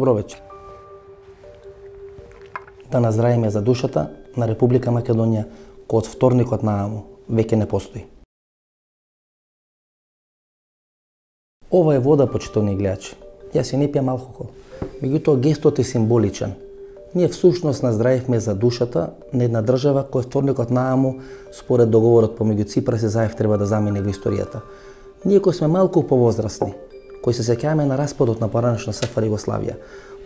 Добро вечер. Да наздравиме за душата на Република Македонија, кој од вторникот нааму веќе не постои. Ова е вода, почитувани гледачи. Јас си не пијам алкохол. Меѓутоа гестот е символичен. Ние всушност наздравивме за душата на една држава која вторникот нааму, според договорот помеѓу Ципрас и Заев, треба да замине во историјата. Ние кои сме малку повозрасни, кои се сеќаваме на распадот на поранешна СФР Југославија,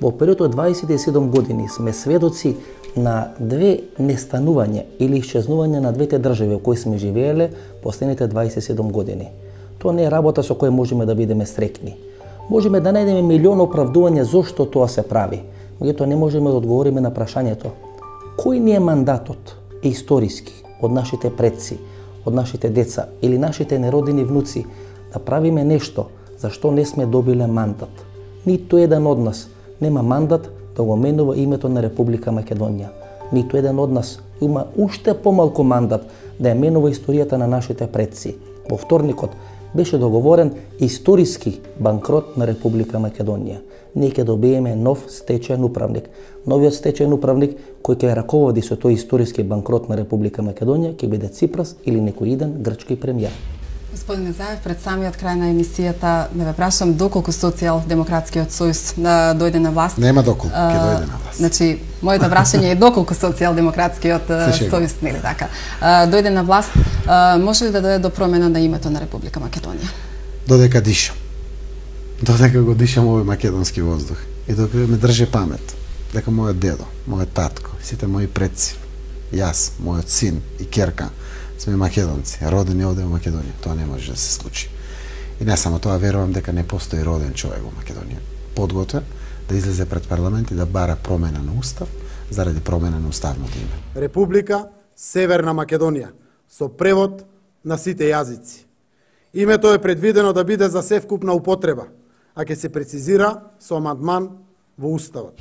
во период од 27 години сме сведоци на две нестанувања или исчезнување на двете држави во кои сме живееле последните 27 години. Тоа не е работа со која можеме да бидеме среќни. Можеме да најдеме милион оправдувања зошто тоа се прави, меѓутоа не можеме да одговориме на прашањето кој ни е мандатот историски од нашите предци, од нашите деца или нашите неродени внуци да правиме нешто за што не сме добиле мандат. Ниту еден од нас нема мандат да го менува името на Република Македонија. Ниту еден од нас има уште помалку мандат да ја менува историјата на нашите предци. Во вторникот беше договорен историски банкрот на Република Македонија. Ние ќе добиеме нов стечаен управник. Новиот стечаен управник кој ќе раководи со тој историски банкрот на Република Македонија ќе биде Ципрас или некој иден грчки премиер. Господине Заев, пред самиот крај на емисијата да ве прашам доколку Социјалдемократскиот сојуз дојде на власт. Нема доколку ќе дојде на власт. Значи, моето прашање е доколку Социјалдемократскиот сојуз, нели така, дојде на власт, може ли да дојде до промена на името на Република Македонија? Додека дишам. Додека го дишам овој македонски воздух и додека ме држи памет дека мојот дедо, мојот татко, сите мои предци, јас, мојот син и ќерка сме македонци, родени овде во Македонија. Тоа не може да се случи. И не само тоа, верувам дека не постои роден човек во Македонија подготвен да излезе пред парламент и да бара промена на устав заради промена на уставното име. Република Северна Македонија со превод на сите јазици. Името е предвидено да биде за севкупна употреба, а ќе се прецизира со амандман во уставот.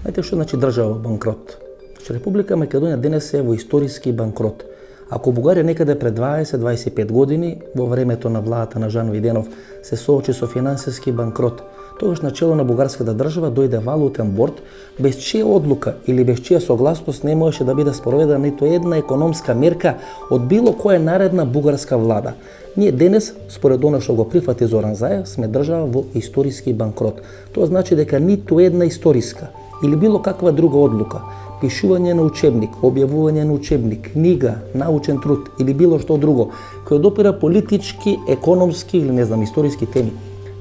Знаете што значи држава банкрот? Значи Република Македонија денес е во историски банкрот. Ако Бугарија некаде пред 20-25 години, во времето на владата на Жан Виденов, се соочи со финансиски банкрот, тогаш на чело на бугарската држава дојде валутен борд, без чија одлука или без чија согласност не можеше да биде спроведена ниту една економска мерка од било која наредна бугарска влада. Ние денес, според она што го прифати Зоран Заев, сме држава во историски банкрот. Тоа значи дека ниту една историска или било каква друга одлука, пишување на учебник, објавување на учебник, книга, научен труд или било што друго, кој допира политички, економски или не знам историски теми,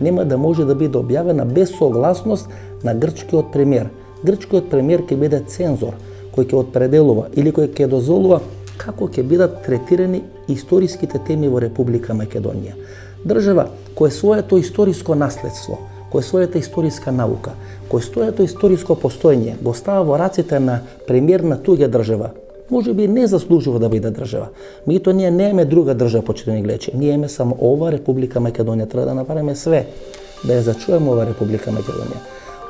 нема да може да биде објавена без согласност на грчкиот премиер. Грчкиот премиер ќе биде цензор, кој ќе определува или кој ќе дозволува како ќе бидат третирани историските теми во Република Македонија. Држава која своето историско наследство, кој својата историска наука, кој своето историско постоење го става во раците на премиер на туѓа држава, може би не заслужува да биде држава. Меѓутоа ние немаме друга држава, почитувани гледачи. Ние имаме само ова Република Македонија. Треба да направиме све да ја зачуваме ова Република Македонија.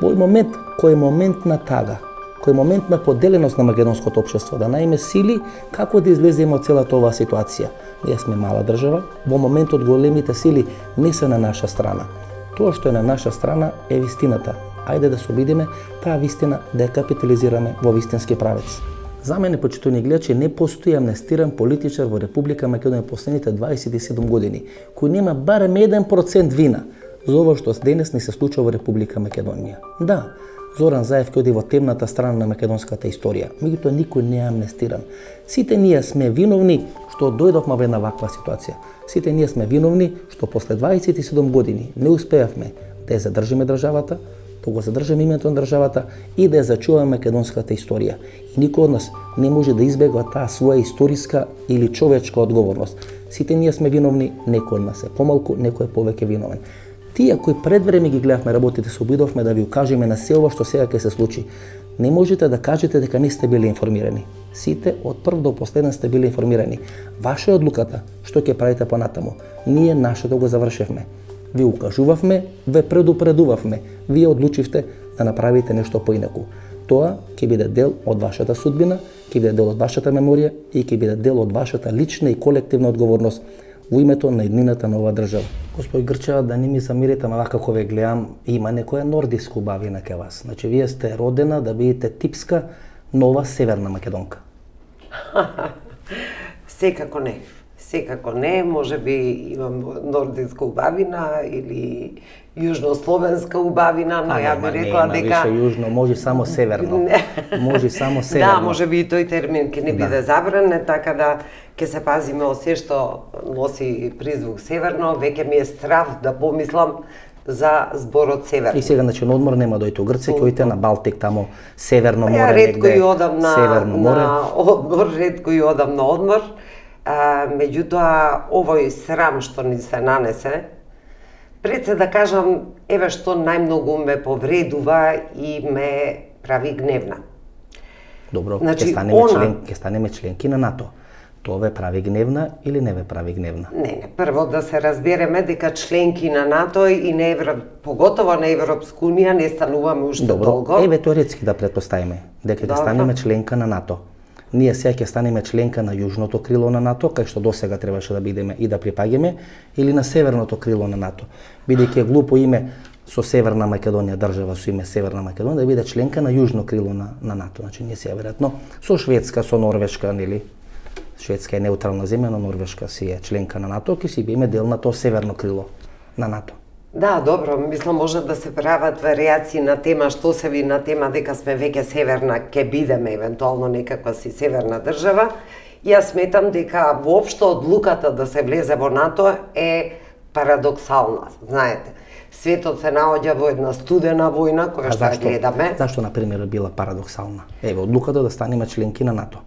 Во овој момент, кој е момент на тага, кој е момент на поделеност на македонското општество, да најме сили како да излеземе од целата оваа ситуација. Ние сме мала држава, во моментот големите сили не се на наша страна. Тоа што е на наша страна е вистината. Ајде да се обидиме таа вистина да ја капитализираме во вистински правец. За мене, почитувани гледачи, не постои амнестиран политичар во Република Македонија последните 27 години, кој нема барем 1% вина за ова што денес не се случува во Република Македонија. Да, Зоран Заев ќе оди во темната страна на македонската историја, меѓутоа никој не е амнестиран. Сите ние сме виновни што дојдовме во една ваква ситуација. Сите ние сме виновни што после 27 години не успеавме да ја задржиме државата, да го задржиме името на државата и да ја зачуваме македонската историја. И никој од нас не може да избегва таа своја историска или човечка одговорност. Сите ние сме виновни, некој од нас е помалку, некој е повеќе виновен. Тие кои пред време ги гледавме работите, се обидовме да ви укажеме на се ова што сега ќе се случи. Не можете да кажете дека не сте били информирани. Сите од прв до последен сте били информирани. Ваша е одлуката што ќе правите понатаму. Ние нашето го завршевме. Ви укажувавме, ве предупредувавме. Вие одлучивте да направите нешто поинаку. Тоа ќе биде дел од вашата судбина, ќе биде дел од вашата меморија и ќе биде дел од вашата лична и колективна одговорност во името на еднината на оваа држава. Господи Грчева, да не ми замирите, ама како ве гледам, има некоја нордиска убавина кај вас. Значи, вие сте родена да бидете типска нова северна македонка. Секако не. Секако не, може би имам нордиска убавина или јужнословенска убавина, но ја би рекла дека... Више јужно, може само северно. Може само северно. Да, може би и тој термин ќе не биде забранен, така да ќе се пазиме од се што носи призвук северно, веќе ми е страв да помислам за зборот северно. И сега, значи, на одмор нема дојте у Грција, ќе одите на Балтик, таму Северно море, негде, ретко и одам Северно море. На одмор, ретко и одам на одмор. Меѓутоа, овој срам што ни се нанесе, пред се да кажам, еве што најмногу ме повредува и ме прави гневна. Добро, Значи, ќе станеме членки на НАТО. Тоа ве прави гневна или не ве прави гневна? Не, прво да се разбереме дека членки на НАТО и на поготово на Европска унија не стануваме уште толку. Добро, еве теоретски да претпоставиме дека ќе станеме членка на НАТО. Ние сега ќе станеме членка на јужното крило на НАТО, кај што досега требаше да бидеме и да припаѓаме, или на северното крило на НАТО. Бидејќи е глупо име со Северна Македонија, држава со име Северна Македонија, да биде членка на јужно крило на НАТО. Значи ние сега веројатно со Шведска, со Норвешка, нели? Шведска е неутрална земја, но Норвешка си е членка на НАТО, ќе си биеме дел на тоа северно крило на НАТО. Да, добро, мислам може да се прават варијации на тема, што се ви на тема дека сме веќе северна, ќе бидеме евентуално некаква си северна држава. Јас сметам дека воопшто одлуката да се влезе во НАТО е парадоксална, знаете. Светот се наоѓа во една студена војна која што ја гледаме. Зашто, например, била парадоксална? Еве, одлуката да станеме членки на НАТО.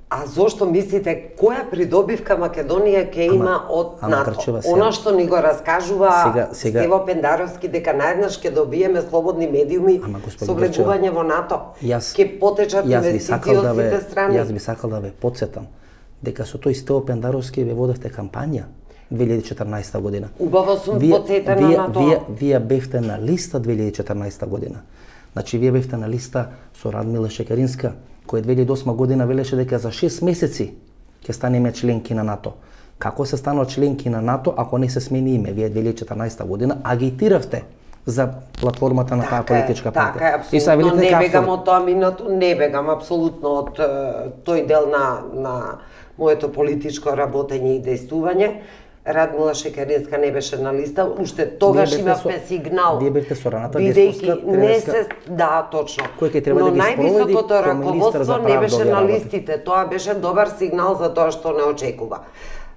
А зошто мислите, која придобивка Македонија ќе има од НАТО? Она што ни го раскажува Стево Пендаровски дека наеднаш ќе добиеме слободни медиуми со влегување во НАТО. Ќе потечат инвестиции од сите страни. Јас би сакал да ве потсетам дека со тој Стево Пендаровски ве водевте кампања 2014 година. Убаво сум потсетена на тоа. Вие бевте на листа 2014 година. Значи, вие бевте на листа со Радмила Шекеринска, кој 2008 година велеше дека за 6 месеци ќе станеме членки на НАТО. Како се станува членки на НАТО ако не се смени име? Вие 2014 година агитиравте за платформата на таа политичка партија. Така е, апсолутно не бегам од тоа минато, не бегам апсолутно од тој дел на моето политичко работење и дејствување. Радмила Шекеринска не беше на листа, уште тогаш имавме сигнал. Вие бевте со раната деспотска, да, точно. Кој ќе треба да ги спроведи највисокото раководство не беше на листите. Тоа беше добар сигнал за тоа што не очекува.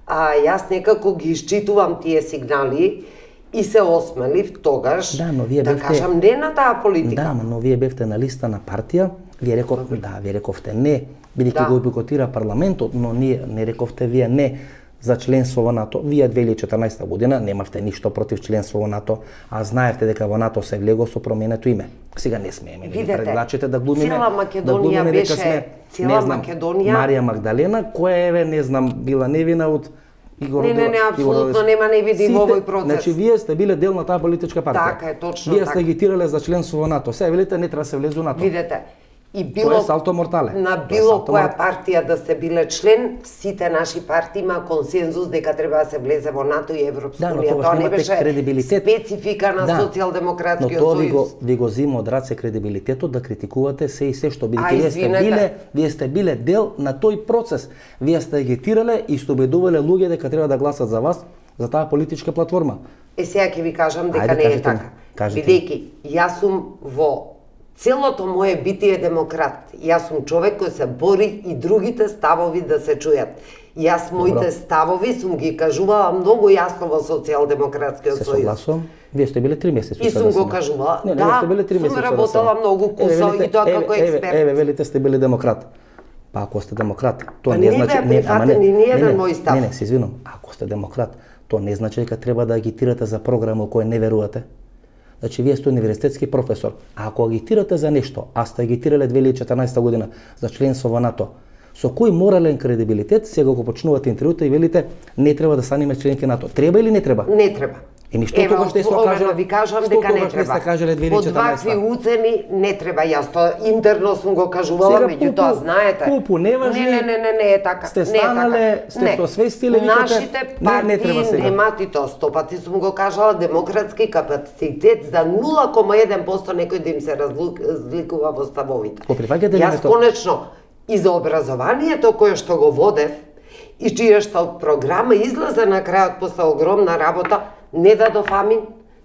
Јас некако ги исчитувам тие сигнали и се осмелив тогаш да кажам не на таа политика. Да, но вие бевте на листа на партија, вие рековте не, бидејќи го бойкотира парламентот, но не рековте вие не за членство во НАТО. Вие 2014 година немавте ништо против членство во НАТО, а знаевте дека во НАТО се влего со променето име. Сега не смееме предлагачите да глумиме. Цела Македонија беше, Марија Магдалена, која не знам била невина од Игор. Не, апсолутно нема невини во овој процес. Значи вие сте биле дел на таа политичка партија. Така е, точно така. Вие сте агитирале за членство во НАТО. Сега велите не треба да се влезе во НАТО. Видете, и било тоа е салто мортале. На било која партија да се биле член, сите наши партии има консензус дека треба да се влезе во НАТО и Европска унија. Тоа не беше специфика на Социјалдемократскиот сојуз. Но тоа ви го зима од раце кредибилитетот да критикувате се и се што бидејќи вие сте биле дел на тој процес. Вие сте агитирале и сте убедувале луѓе дека треба да гласат за вас, за таа политичка платформа. Сега ќе ви кажам дека не е така. Бидејќи јас сум во целото мое битие демократ. Јас сум човек кој се бори и другите ставови да се чујат. Јас моите ставови сум ги кажувала многу јасно во Социјалдемократскиот сојуз. Се согласувам. Вие сте биле 3 месеци. И сум го кажувала. Да, сум работела многу кусо и тоа како експерт. Еве, велите сте били демократ. Па ако сте демократ, тоа не значи не еден мој став. Не, се извинувам. Ако сте демократ, тоа не значи дека треба да агитирате за програма која не верувате. Значи, вие сте универзитетски професор, а ако агитирате за нешто, а сте агитирале 2014 година за членство во НАТО, со кој морален кредибилитет сега го почнувате интервјута и велите не треба да станеме членки НАТО? Треба или не треба? Не треба. Еми што тогаш сте кажале? Ви кажам дека не треба. Под вакви уцени не треба. Јас тоа интерно сум го кажувала, меѓутоа знаете. Пупу не важи. Не е така. Сте станале, сте се освестиле, викате. Нашите партии немат и тоа 100 пати сум го кажала, демократски капацитет за 0,1% некој да им се разликува во ставовите. Јас конечно и за образованието кое што го водев и чија што програма излезе на крајот после огромна работа, не дадов амин,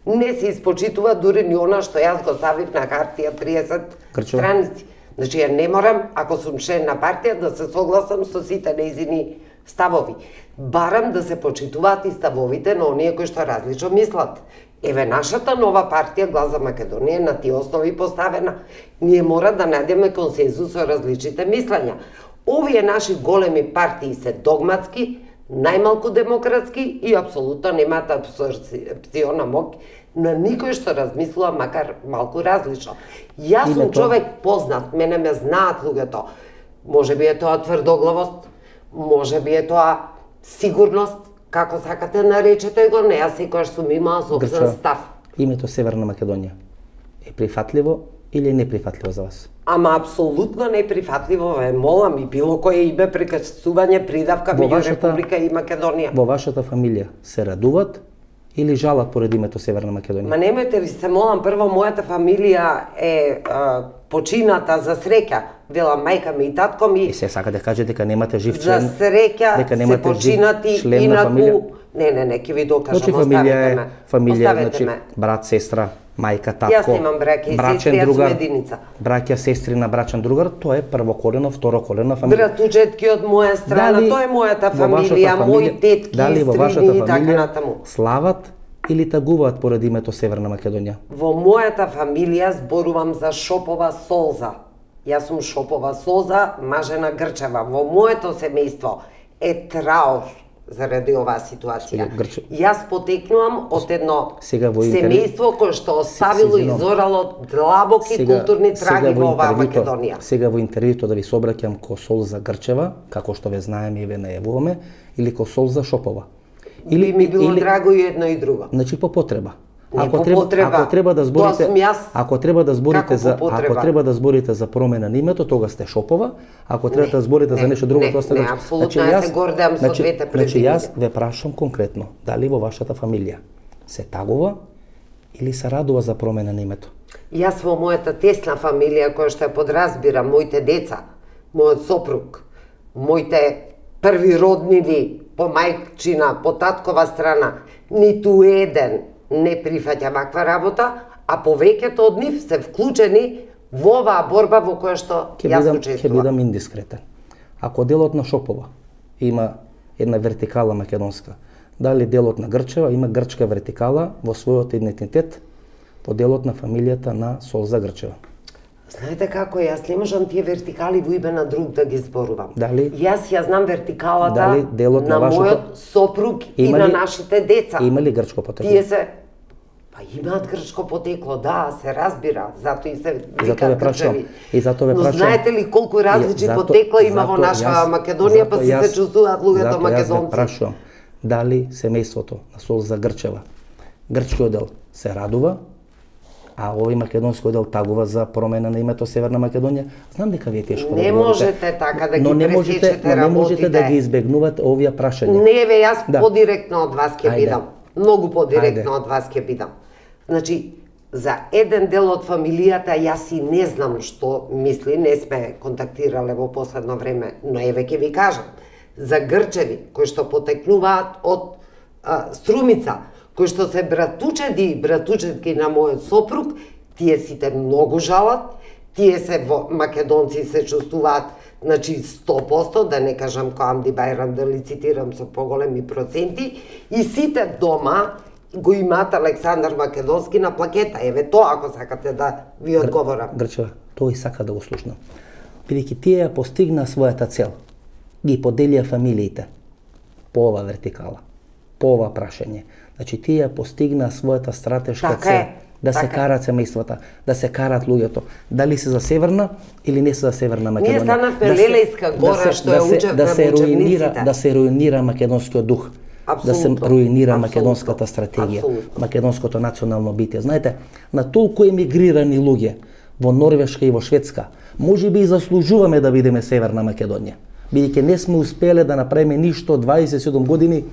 не се испочитува дури ни она што јас го ставив на хартија 30 страници. Значи, ја не морам, ако сум член на партија, да се согласам со сите нејзини ставови. Барам да се почитуваат и ставовите на оние кои што различно мислат. Еве, нашата нова партија Глас за Македонија на тие основи поставена. Ние мора да најдеме консензус со различните мислења. Овие наши големи партии се догматски, најмалку демократски и апсолутно немаат абсорбциона моќ на никој што размислува макар малку различно. Јас сум човек познат, мене ме знаат луѓето. Може би е тоа тврдоглавост, може би е тоа сигурност, како сакате наречете го, не, јас секојаш сум имала собствен став. Името Северна Македонија е прифатливо или неприфатливо за вас? Ама апсолутно неприфатливо, ве молам, и било кое име прекачување придавка меѓу Република и Македонија. Во вашата фамилија се радуват или жалат поред името Северна Македонија? Ма немојте ви се молам, прво мојата фамилија е почината за среќа, вела мајка ми и татко ми. И се сака да каже дека немате жив член. За среќа се починати инаку. Не, ќе ви докажам, оставете ме. Фамилија, значи брат, сестра, мајка, татко, јас немам браќа и сестри, јас сум единица. Браќа, сестри на брачен другар, тоа е првоколена, второколена фамилија. Братучетки од моја страна, тоа е мојата фамилија, мои тетки, стрини и така натаму. Слават или тагуваат поред името Северна Македонија? Во мојата фамилија зборувам за Шопова Солза. Јас сум Шопова Солза, мажена Грчева. Во моето семејство е траор заради оваа ситуација. Јас потекнувам од едно семејство кое што оставило и зорало длабоки културни траги во оваа Македонија. Сега во интервјуто да ви собраќам ко Солза Грчева, како што ве знаеме и ве најавуваме, или ко Солза Шопова? Или ми било драго и едно и друго. Значи по потреба. Ако треба да зборите за промена на името, тога сте Шопова. Ако треба да зборите за нешто друго, тоа сте. Не, апсолутно јас се гордеам со двете презимена. Значи јас ве прашам конкретно, дали во вашата фамилија се тагува или се радува за промена на името? Јас во мојата тесна фамилија која што ја подразбирам, моите деца, мојот сопруг, моите први роднини по мајчина, по таткова страна, ниту еден не прифаќа ваква работа, а повеќето од нив се вклучени во оваа борба во која што јас учествувам. Ќе бидам индискретен. Ако делот на Шопова има една вертикала македонска, дали делот на Грчева има грчка вертикала во својот идентитет по делот на фамилијата на Солза Грчева? Знаете како, јас не можам тие вертикали во име на друг да ги зборувам. Дали? Јас ја знам вертикалата на мојот сопруг и на нашите деца. Има ли грчко потекло? Тие се имаат грчко потекло, да, се разбира, затоа и се викаат грчеви. Но знаете ли колку различни потекла има во наша Македонија, па си се чувствуваат луѓето македонци? Јас ве прашувам, дали семејството на Солза Грчева, грчкиот дел се радува, а овој македонски дел тагува за промена на името Северна Македонија? Знам дека ви е тешко да не можете така да ги пресечете работите. Не можете да ги избегнувате овие прашања. Не, ве, јас подиректно од вас ќе бидам. Многу подиректно од вас ќе бидам. Значи, за еден дел од фамилијата јас и не знам што мисли, не сме контактирале во последно време, но еве ќе ви кажам. За Грчеви, кои што потекнуваат од Струмица, кои што се братучеди и братучетки на мојот сопруг, тие сите многу жалат, тие се македонци се чувствуваат, значи 100%, да не кажам ко Амди Бајрам, да ли цитирам со поголеми проценти, и сите дома го имаат Александар Македонски на плакета. Еве тоа, ако сакате да ви одговорам. Грчева, тој сака да го слушнам. Бидејќи тие ја постигна својата цел, ги поделија фамилиите по ова вертикала, по ова прашање. Значи, тие ја постигна својата стратешка цел, да се карат семејствата, да се карат луѓето. Дали се за Северна или не се за Северна Македонија. Ние станавме Лелејска гора, што ја учевме во учебниците. Да се руинира македонскиот дух. да се руинира македонската стратегија, македонското национално битие. Знаете, на толку емигрирани луѓе во Норвешка и во Шведска, може би и заслужуваме да бидеме Северна Македонија, бидејќи не сме успеле да направиме ништо 27 години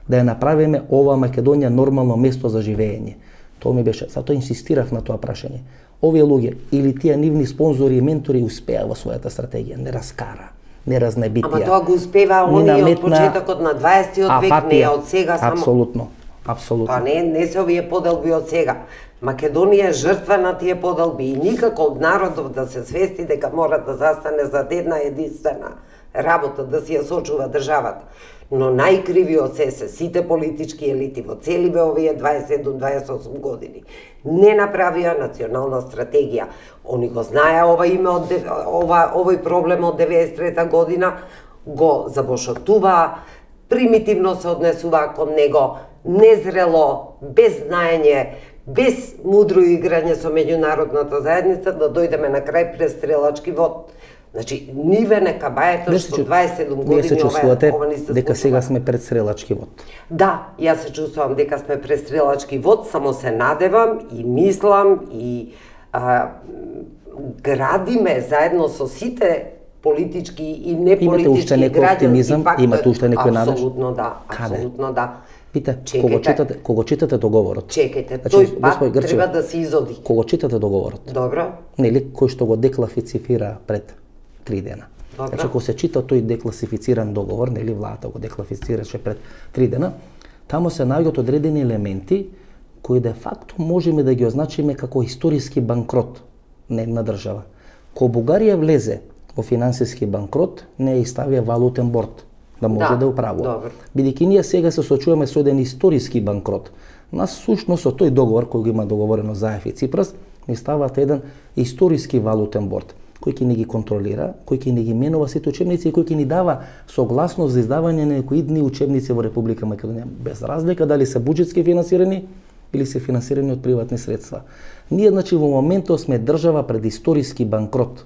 да ја направиме ова Македонија нормално место за живење. Тоа ми беше, затоа инсистирав на тоа прашање. Овие луѓе или тие нивни спонзори и ментори успеа во својата стратегија, не раскара, не разнебитија. Ама тоа го успева оние од почетокот на 20-тиот век, не од сега само. Апсолутно, апсолутно. Па не се овие поделби од сега. Македонија е жртва на тие поделби и никако од народов да се свести дека мора да застане за една единствена работа, да си ја сочува државата. Но најкриви од се сите политички елити во целиве овие 27-28 години. Не направија национална стратегија. Они го знаеа овој проблем од 93 година, го забошотуваа, примитивно се однесуваа кон него, незрело, без знаење, без мудро играње со меѓународната заедница, да дојдеме на крај престрелачки вод. Значи, ниве нека бајето што 27 години вие се чувствувате дека сега сме пред стрелачки вод. Да, јас се чувствувам дека сме пред стрелачки вод, само се надевам и мислам и градиме заедно со сите политички и неполитички граѓански фактори. Имате уште некој надеж? Апсолутно да, апсолутно да. Пите, кога читате договорот. Чекајте, тој пат треба да се изоди. Кога читате договорот. Добро. Нели кој што го декласифицира пред 3 дена. Добро. Значи, ако се чита тој декласифициран договор, нели владата го декласифицираше пред 3 дена, таму се наоѓаат одредени елементи кои де факто можеме да ги означиме како историски банкрот на една држава. Кога Бугарија влезе во финансиски банкрот, не ја ставија валутен борд да може да управува. Бидејќи ние сега се соочуваме со еден историски банкрот. Нас сушност со тој договор кој го има договорено Заев и Ципрас, ни стават еден историски валутен борд кој ќе ни ги контролира, кој ќе ни ги менува сите учебници и кој ќе ни дава согласност за издавање на некои идни учебници во Република Македонија, без разлика дали се буџетски финансирани или се финансирани од приватни средства. Ние, значи, во моментот сме држава пред историски банкрот.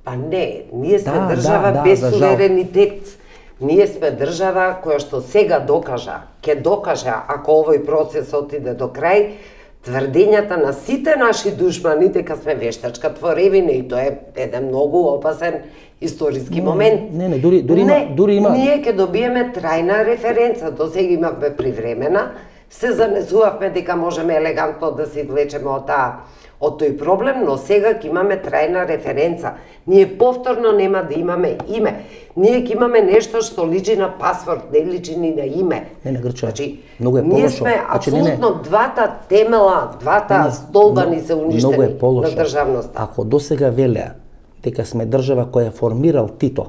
Па не, ние сме држава без суверенитет. Ние сме држава која што сега ќе докажа, ако овој процес отиде до крај, тврдењата на сите наши душмани дека сме вештачка творевина и тоа е еден многу опасен историски момент. Дури има. Ние ќе добиеме трајна референца, до сега имавме привремена, се занесувавме дека можеме елегантно да се извлечеме од тој проблем, но сега ќе имаме трајна референца. Ние повторно нема да имаме име. Ние ќе имаме нешто што личи на пасворд, не личи ни на име. Не, Грче, значи, многу е полошо. Ние сме апсолутно двата темела, двата столба ни се уништени на државноста. Ако досега велеа дека сме држава која е формирал Тито,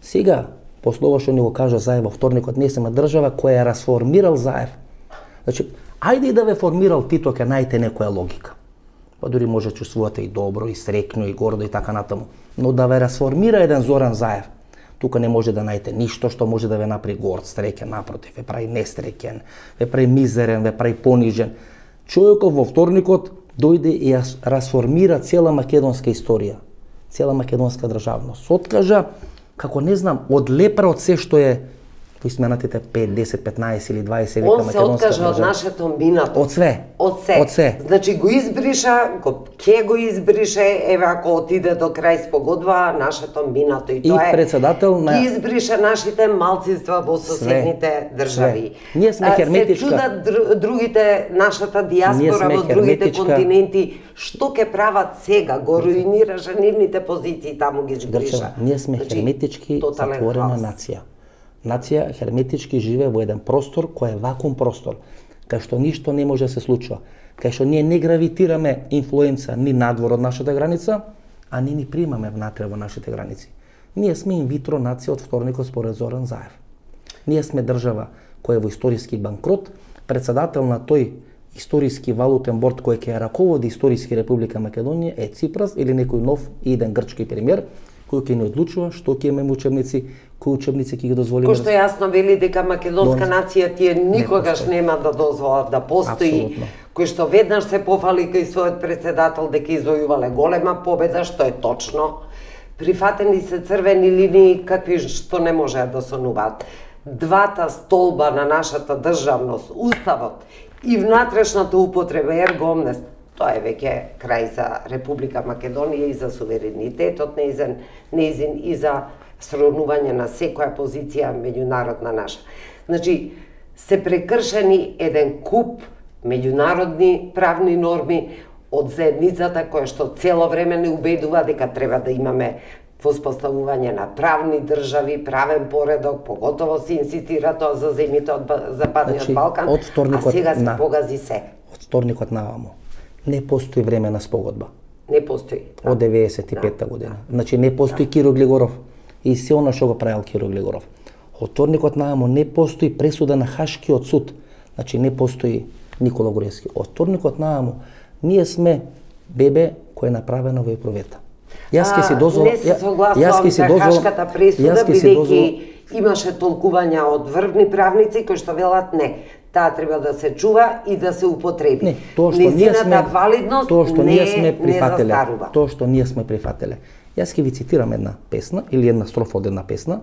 сега, после ова што ни го кажа Заев во вторникот, ние сме држава која е расформирал Заев. Значи, ајде и да ве формирал Тито, ќе најдете некоја логика. Па дури може да чувствувате и добро, и среќно, и гордо, и така натаму. Но да ве расформира еден Зоран Заев, тука не може да најдете ништо што може да ве направи горд, среќен, напротив, ве прави несреќен, ве прави мизерен, ве прави понижен. Човекот во вторникот дојде и ја расформира цела македонска историја, цела македонска државност. Откажа, како не знам, одлепра од се што е во изминатите 5, 10, 15 или 20 века македонска држава. Он се откажа од нашето минато. Од све. Од се. Значи го избриша, ќе го избрише, еве ако отиде до крај спогодба, нашето минато. И тоа е председател на... Ги избриша нашите малцинства во соседните држави. Ние сме херметичка. Се чудат другите, нашата диаспора во другите континенти, што ќе прават сега, го руинираше нивните позиции, таму ги избриша. Ние сме херметички затворена нација. Нација херметички живее во еден простор кој е вакуум простор, кај што ништо не може да се случува, кај што ние не гравитираме инфлуенца ни надвор од нашата граница, а ни примаме внатре во нашите граници. Ние сме инвитро нација од вторникот според Зоран Заев. Ние сме држава која е во историски банкрот, председател на тој историски валутен борд кој ќе ја раководи историски Република Македонија е Ципрас или некој нов и еден грчки премиер, кој ќе ни одлучува што ќе имаме учебници, кои учебници ќе ги дозволиме. Кој што јасно вели дека македонска нација тие никогаш нема да дозволат да постои, кој што веднаш се пофали кај својот председател дека извојувале голема победа, што е точно. Прифатени се црвени линии какви што не можеа да сонуваат. двата столба на нашата државност, уставот и внатрешната употреба ерго омнес, тоа е веќе крај за Република Македонија и за суверенитетот неизин и за сравнување на секоја позиција меѓународна наша. Значи, се прекршени еден куп меѓународни правни норми од заедницата која што цело време не убедува дека треба да имаме воспоставување на правни држави, правен поредок, поготово се инсистира тоа за земјите од Западниот Балкан, а сега се погази се. Од вторникот наваму не постои времена спогодба. Не постои. Од 95-та година. Значи не постои Киро Глигоров и се она што го правил Киро Глигоров. Од вторникот наваму не постои пресуда на Хашкиот суд. Значи не постои Никола Груевски. Од вторникот наваму ние сме бебе кој е направено во епровета. Не се согласувам за Хашката пресуда, бидејќи имаше толкувања од врвни правници кои што велат не, таа треба да се чува и да се употреби. Не, тоа што ние сме валидност не застарува. Тоа што ние сме прифателе. Јас ќе ви цитирам една песна или една строфа од една песна.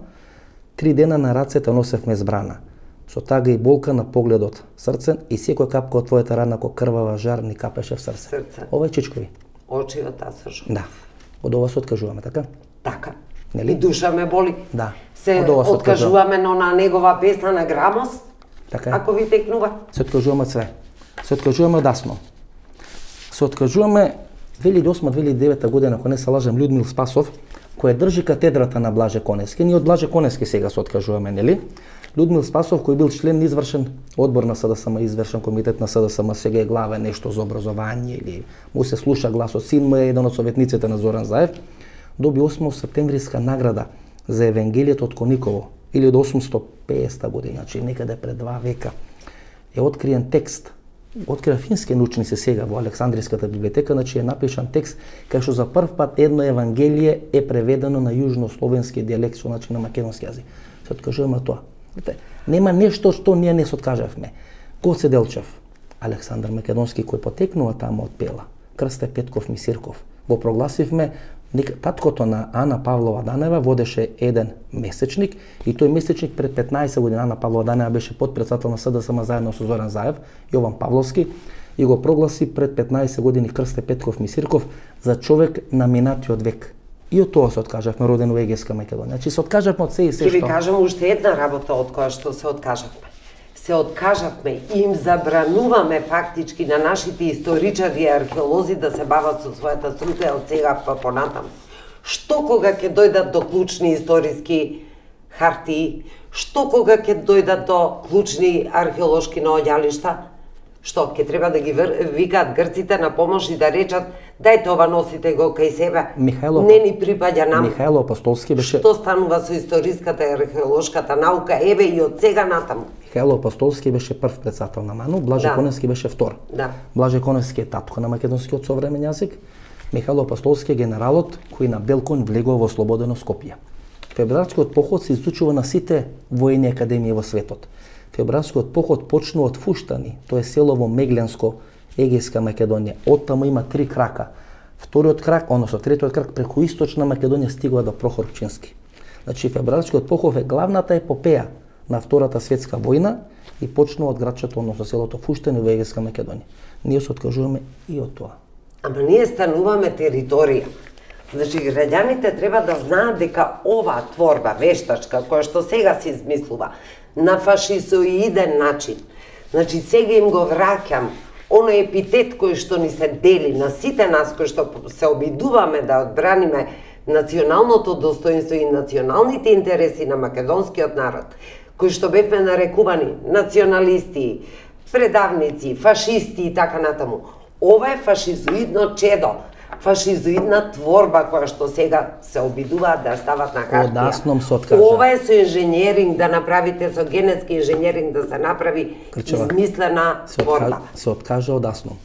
3 дена на рацете носевме збрана. Со тага и болка на погледот срцен и секој капка од твојата рана ко крвава жар ни капеше в срце. Ова е Чичкови. Очиот асожо. Да. Од ова се откажуваме, така? Така. Нели? И душа ме боли. Да. Се откажуваме на негова песна на Грамос. Така. Ако ви текнува. Се откажуваме све. Се откажуваме одасно. Се откажуваме 2008-2009 година, ако не се лажам, Людмил Спасов, кој држи катедрата на Блаже Конески. Ние од Блаже Конески сега се откажуваме, нели? Людмил Спасов, кој бил член извршен одбор на СДСМ, извршен комитет на СДСМ, сега е глава нешто за образование или му се слуша гласот. Син му е еден од советниците на Зоран Заев. Доби 8 септемвриска награда за Евангелието од Кониково или од 850 година, значи некаде пред 2 века. Е откриен текст. Открија фински научници сега во Александриската библиотека, значи е напишан текст кај што за прв пат едно Евангелие е преведено на јужнословенски дијалект, значи на македонски јазик. Се откажуваме тоа. Нема нешто што ние не се откажавме. Гоце Делчев, Александар Македонски кој потекнува таму од Пела, Крсте Петков Мисирков, го прогласивме. Таткото на Ана Павлова Данева водеше еден месечник и тој месечник пред 15 години Ана Павлова Данева беше подпредседател на СДСМ заедно со Зоран Заев, Јован Павловски, и го прогласи пред 15 години Крсте Петков Мисирков за човек на минатиот век. И од тоа се откажавме, роден во Егејска Македонија. Значи се откажавме од се и се што. Ќе ви кажам уште една работа од која што се откажавме. Се откажавме и им забрануваме фактички на нашите историчари и археолози да се бават со својата струка од сега па понатаму. Што кога ќе дојдат до клучни историски хартии, што кога ќе дојдат до клучни археолошки наоѓалишта, што ќе треба да ги викаат грците на помош и да речат дајте ова носите го кај себе. Не ни припаѓа нам. Михајло Апостолски беше. Што станува со историската и археолошката наука еве и од сега натаму. Михајло Апостолски беше прв председател на МАНУ, Блаже Коневски беше втор. Да. Блаже Коневски е татко на македонскиот современ јазик. Михајло Апостолски е генералот кој на Белкон влегува во ослободено Скопје. Февруарскиот поход се изучува на сите воени академии во светот. Февруарскиот поход почнува од Фуштани, тоа е село во Мегленско, Егејска Македонија. Оттаму има 3 крака. Вториот крак, односно третиот крак преку Источна Македонија стигува до Прохор Пчински. Значи февруарскиот поход е главната епопеја на Втората светска војна и почнува од градчето, односно селото Фуштани во Егејска Македонија. Ние се откажуваме и од тоа. Ама ние стануваме територија. Значи граѓаните треба да знаат дека ова творба вештачка која што сега се измислува на фашизоиден начин. Значи сега им го враќам оној епитет кој што ни се дели на сите нас кои што се обидуваме да одбраниме националното достоинство и националните интереси на македонскиот народ, кои што бевме нарекувани националисти, предавници, фашисти и така натаму. Ова е фашизоидно чедо, фашизоидна творба која што сега се обидуваат да стават на хартија. Одасном се откажа. Ова е со инженеринг да направите, со генетски инженеринг да се направи измислена творба. Се откажа одасном.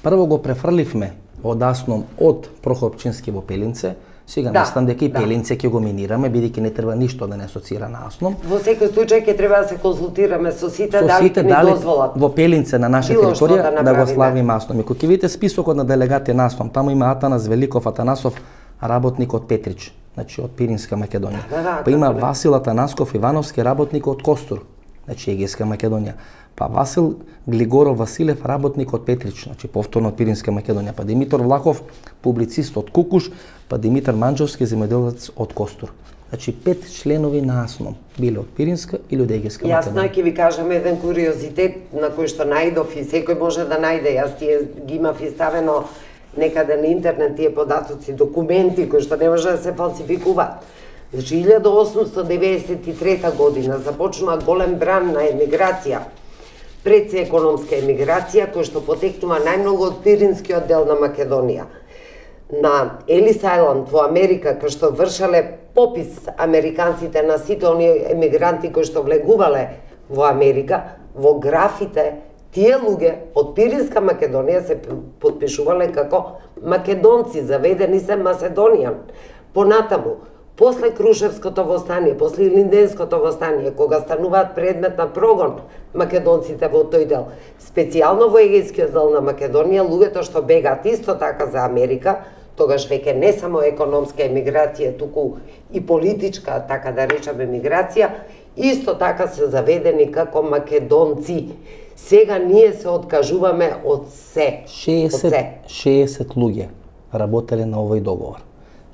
Прво го префрливме одасном од Прохор Пчински во Пелинце. Сега мислам дека и Пелинце ќе го минираме, бидејќи не треба ништо да не асоцира на Асном. Во секој случај ќе треба да се консултираме со сите дали ќе ни дозволат. Во Пелинце на наша територија да го славиме Асном. И кога ќе видите списокот на делегати на Асном, таму има Атанас Великов Атанасов, работник од Петрич. значи од Пиринска Македонија. Да, Па има Васил Атанасков Ивановски, работник од Костур, значи Егејска Македонија. Па Васил Глигоров Василев, работник од Петрич, значи повторно од Пиринска Македонија. Па Димитар Влахов, публицист од Кукуш, па Димитар Манџовски, земјоделец од Костур. Значи 5 членови на АСНОМ биле од Пиринска или од Егејска Македонија. Јасно ќе ви кажам еден куриозитет на кој што најдов и секој може да најде. Јас тие ги имав и ставено некаде на интернет тие податоци, документи кои што не може да се фалсификуваат. Значи 1893 година започнува голем бран на емиграција. Пред се економска емиграција која што потекнува најмногу од Пиринскиот дел на Македонија. На Елис Ајланд во Америка, кај што вршале попис американците на сите оние емигранти кои што влегувале во Америка, во графите тие луѓе од Пиринска Македонија се подпишувале како македонци, заведени се Маседонијан. Понатаму, после Крушевското востание, после Илинденското востание, кога стануваат предмет на прогон македонците во тој дел, специјално во Егејскиот дел на Македонија, луѓето што бегаат исто така за Америка, тогаш веќе не само економска емиграција, туку и политичка, така да речеме, емиграција, исто така се заведени како македонци. Сега ние се откажуваме од се. 60 луѓе работеле на овој договор.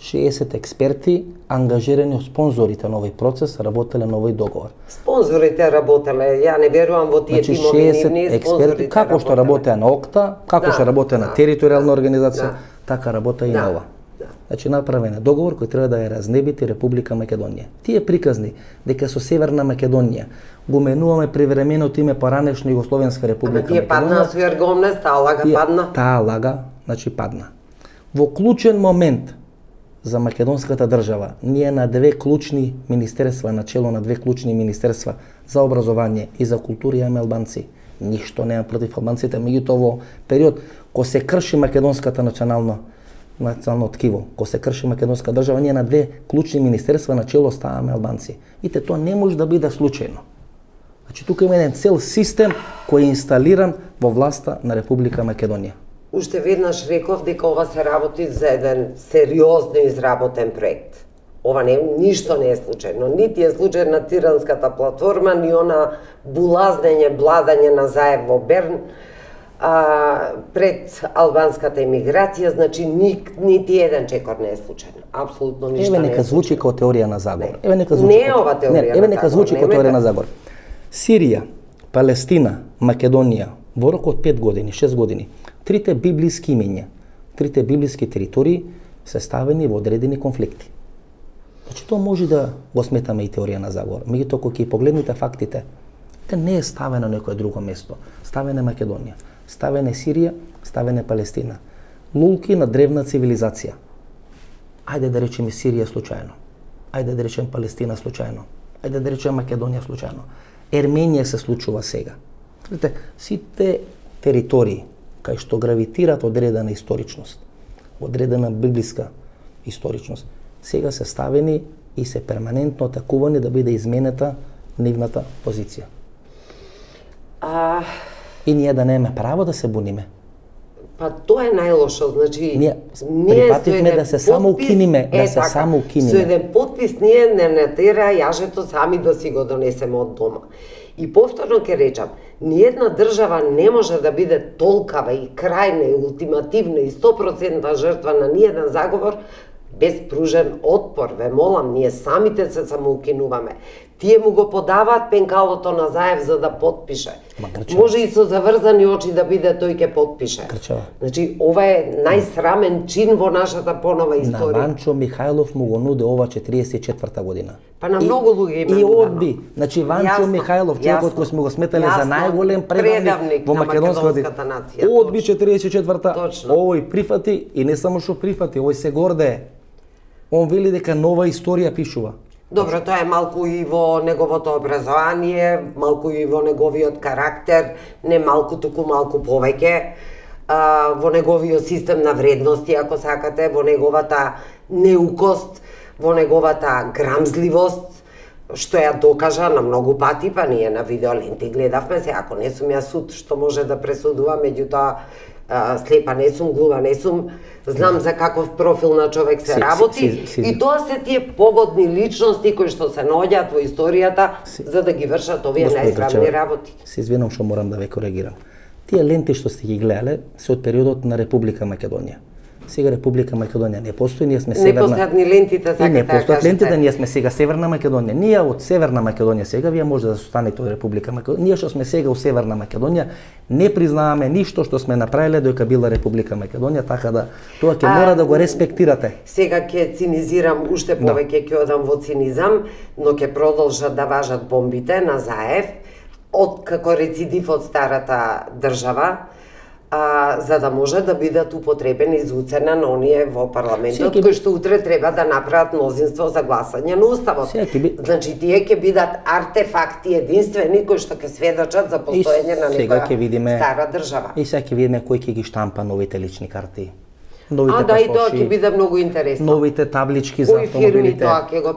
60 експерти ангажирани од спонзорите на овој процес работеле на овој договор. Спонзорите работеле, ја не верувам во тие тимови нивни, експерти како што работеа на ОКТА, како што работеа на територијална организација, така работа и на ова. Значи направен е договор кој треба да ја разнебити Република Македонија. Тие приказни дека со Северна Македонија го менуваме привременото име поранешна Југословенска Република Македонија. Тие падна со Јарговнес, таа лага падна. Таа лага, значи падна. Во клучен момент за македонската држава, ние на две клучни министерства, начело на две клучни министерства за образование и за култура имаме албанци. Ништо нема против албанците, меѓутоа во период кога се крши македонската национално ткиво, кога се крши македонска држава, ние на две клучни министерства начело ставаме албанци. Ите тоа не може да биде случајно. Значи тука има еден цел систем кој е инсталиран во власта на Република Македонија. Уште веднаш реков дека ова се работи за еден сериозно изработен проект. Ова ништо не е случајно. Нити е случај на Тиранската платформа, ни она булазнење, бладање на Заев во Берн пред албанската емиграција, значи нити еден чекор не е случајно. Апсолутно ништо не е. Еве нека звучи како теорија на заговор. Еве нека звучи. Не е ова теорија на заговор. Еве нека звучи како теорија на заговор. Сирија, Палестина, Македонија, во рок од 5 години, 6 години, трите библиски имења, трите библиски територии се ставени во одредени конфликти. Значи тоа може да го сметаме и теорија на заговор. Меѓутоа кога ќе погледнете фактите, те не е ставено на некое друго место. Ставена Македонија, ставена Сирија, ставена Палестина. Лулки на древна цивилизација. Ајде да речеме Сирија случајно. Ајде да речеме Палестина случајно. Ајде да речеме Македонија случајно. Ерменија се случува сега. Видите, сите територии кај што гравитираат одредена историчност, одредена библиска историчност, сега се ставени и се перманентно атакувани да биде изменета нивната позиција. И ние да немаме право да се буниме. Па тоа е најлошо, значи ние прифативме да се само укиниме, Со еден подпис ние не натера јажето сами да си го донесеме од дома. И повторно ќе речам, ниедна држава не може да биде толкава и крајна и ултимативна и 100% жртва на ниеден заговор без пружен отпор. Ве молам, ние самите се самоукинуваме. Тие му го подаваат пенкалото на Заев за да подпише. Може и со заврзани очи да биде тој ќе подпише. Значи, ова е најсрамен чин во нашата понова историја. На Ванчо Михајлов му го нуде ова 44-та година. Па на многу луѓе има. И одби. Значи Ванчо Михајлов, човекот кој сме го сметале за најголем предавник во македонската нација. Одби 44-та, овој прифати и не само што прифати, овој се гордее. Он вели дека нова историја пишува. Добро, тоа е малку и во неговото образование, малку и во неговиот карактер, не малку, туку малку повеќе, во неговиот систем на вредности, ако сакате, во неговата неукост, во неговата грамзливост, што ја докажа на многу пати, па ние на видеоленти гледавме се, ако не сум ја суд што може да пресудува, меѓутоа слепа не сум, глума не сум, знам за каков профил на човек се работи и тоа се тие погодни личности кои што се наоѓаат во историјата за да ги вршат овие најсрамни работи. Се извинувам што морам да ве коригирам. Тие ленти што сте ги гледале се од периодот на Република Македонија. Сега Република Македонија не постои, ние сме северна. Не постојат ни лентите, сакате не постојат лентите, ние сме сега Северна Македонија. Ние од Северна Македонија сега, вие може да останете од Република Македонија. Ние што сме сега у Северна Македонија не признаваме ништо што сме направиле додека била Република Македонија, така да тоа ќе мора да го респектирате. Сега ќе цинизирам уште повеќе, ќе одам во цинизам, но ќе продолжат да важат бомбите на Заев од како рецидив од старата држава. За да може да бидат употребени за уцена на оние во парламентот кои што утре треба да направат мнозинство за гласање на уставот. Значи тие ќе бидат артефакти единствени кои што ќе сведочат за постоење на некоја стара држава. И сега ќе видиме кој ќе ги штампа новите лични карти. Новите да, и тоа ќе биде многу интересно. Новите таблички за автомобилите,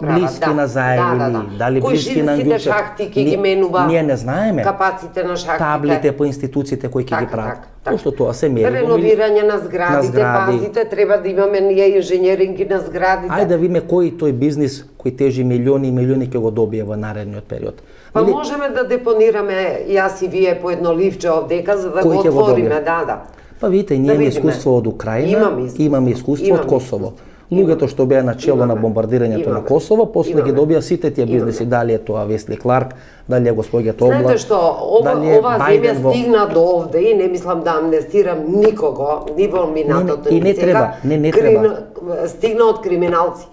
блиски на Заевини, дали блиски на Ангјучев. Кои шахти ќе ги менува, ние не знаеме капаците на шахтите. Таблите по институциите кои ќе ги прават. Пошто тоа се мери. Реновирање на зградите, пазите, треба да имаме ние инженеринги на зградите. Ајде да видиме кој тој бизнис кој тежи милиони и милиони ќе го добие во наредниот период. Па можеме да депонираме јас и вие по едно ливче овдека за да го отвориме, да. Па видите, ние имаме искуство од Украина, имаме искуство од Косово. Луѓето што беа на чело на бомбардирањето на Косово, после ги добија сите тие бизнеси, дали е тоа Весли Кларк, дали е господјата Облак. Знаете што, ова земја стигна до овде и не мислам да амнестирам никого, ни во минатото, ни сега. Не треба. Стигна од криминалци.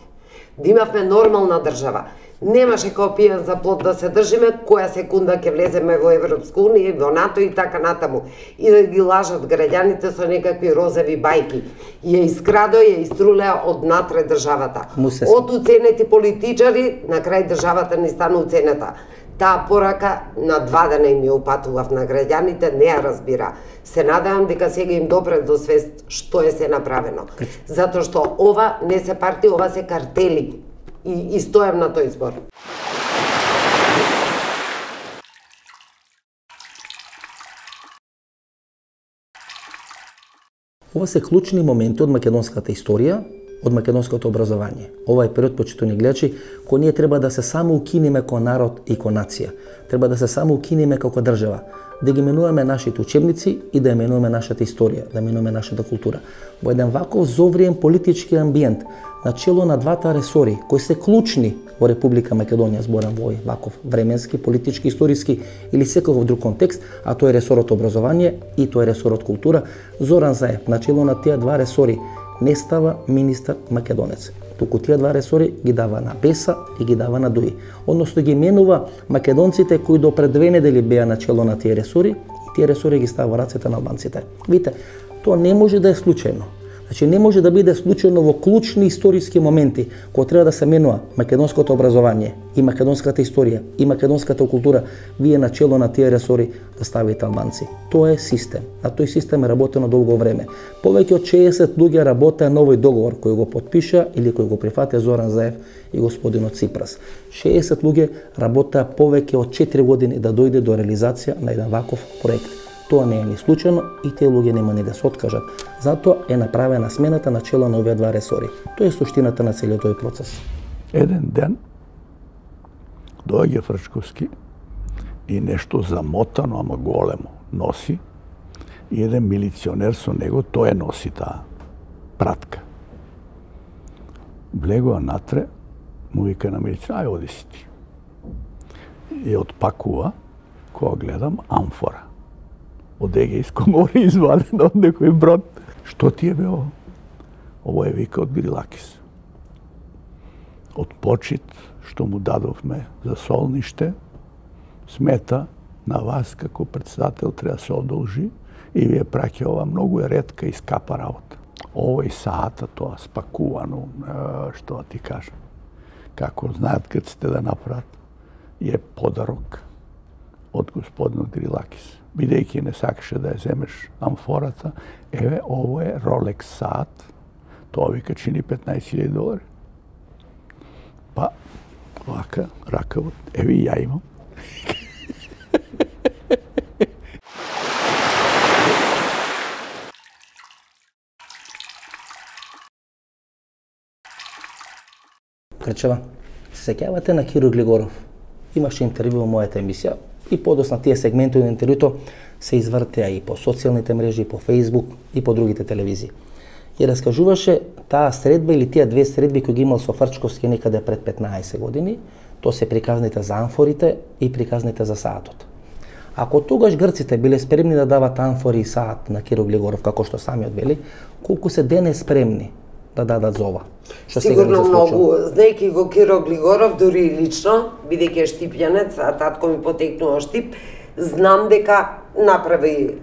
Да имавме нормална држава. Немаше као пијан за плот да се држиме, која секунда ќе влеземе во Европска унија, во НАТО и така натаму. И да ги лажат граѓаните со некакви розови бајки. Ја искрадо, ја иструлеа од натре државата. Од уценети политичари, на крај државата не стана уценета. Таа порака на 2 дена им ја упатував на граѓаните, не ја разбира. Се надевам дека сега им допре до свест што е се направено. Затоа што ова не се партии, ова се картели. И стојам на тој збор. Ова се клучни моменти од македонската историја, од македонското образование. Ова е период, почитувани гледачи, кој ние треба да се само укинеме како народ и како нација. Треба да се само укинеме како држава. Да ги менуваме нашите учебници и да ја менуваме нашата историја, да менуваме нашата култура. Во еден ваков зовриен политички амбиент, на чело на двата ресори, кои се клучни во Република Македонија, зборам во овој ваков временски, политички, историски или секаков друг контекст, а тоа е ресорот образование и тоа е ресорот култура, Зоран Заев на чело на тие два ресори не става министар македонец. Туку тие два ресори ги дава на Беса и ги дава на Дуи. Односно ги менува македонците кои до пред 2 недели беа на чело на тие ресори и тие ресори ги става во рацете на албанците. Видите, тоа не може да е случајно. Значи не може да биде случајно во клучни историски моменти кога треба да се менува македонското образование и македонската историја и македонската култура, вие на чело на тие ресори да ставите албанци. Тоа е систем. На тој систем е работено долго време. Повеќе од 60 луѓе работеа на овој договор кој го потпиша или кој го прифатија Зоран Заев и господинот Ципрас. 60 луѓе работеа повеќе од 4 години да дојде до реализација на еден ваков проект. Тоа не е ни случајно и тие луѓе нема ни да се откажат. Затоа е направена смената на чело на овие два ресори. Тоа е суштината на целиот тој процес. Еден ден доаѓа Фрчковски и нешто замотано, ама големо, носи и еден милиционер со него, тој носи таа пратка. Влегува натре, му вика на милиционер, ај оди си ти. И отпакува, кога гледам, амфора. Од Егејско море извадено од некој брод. Што ти е бе ово? Ово е вика од Грилакис. Од почит што му дадовме за солниште, смета на вас како председател треба се одолжи и вие праќа ова многу е ретка и скапа работа. Ово и саата тоа спакувано, што ти кажам. Како знаат кад сте да направат, е подарок од господинот Грилакис. Бидејќи не сакаше да ја земеш амфората, еве, ово е Rolex саат, тоа вика чини $15,000. Па, вака, ракавот, еве и ја имам. Грчева, се сеќавате на Киро Глигоров. Имаше интервју во мојата емисија и подосна тие сегменти од интервјуто се извртеа и по социјалните мрежи, и по Facebook, и по другите телевизии. И раскажуваше таа средба или тие две средби кои ги имал со Фрчковски некаде пред 15 години, тоа се приказните за амфорите и приказните за саатот. Ако тогаш грците биле спремни да дават амфори и саат на Киро Глигоров, како што самиот вели, колку се денес спремни да дадат за ова? Сигурно многу, знаеки го Киро Глигоров, дури и лично, бидејќи штипјанец, а татко ми потекнува Штип, знам дека направи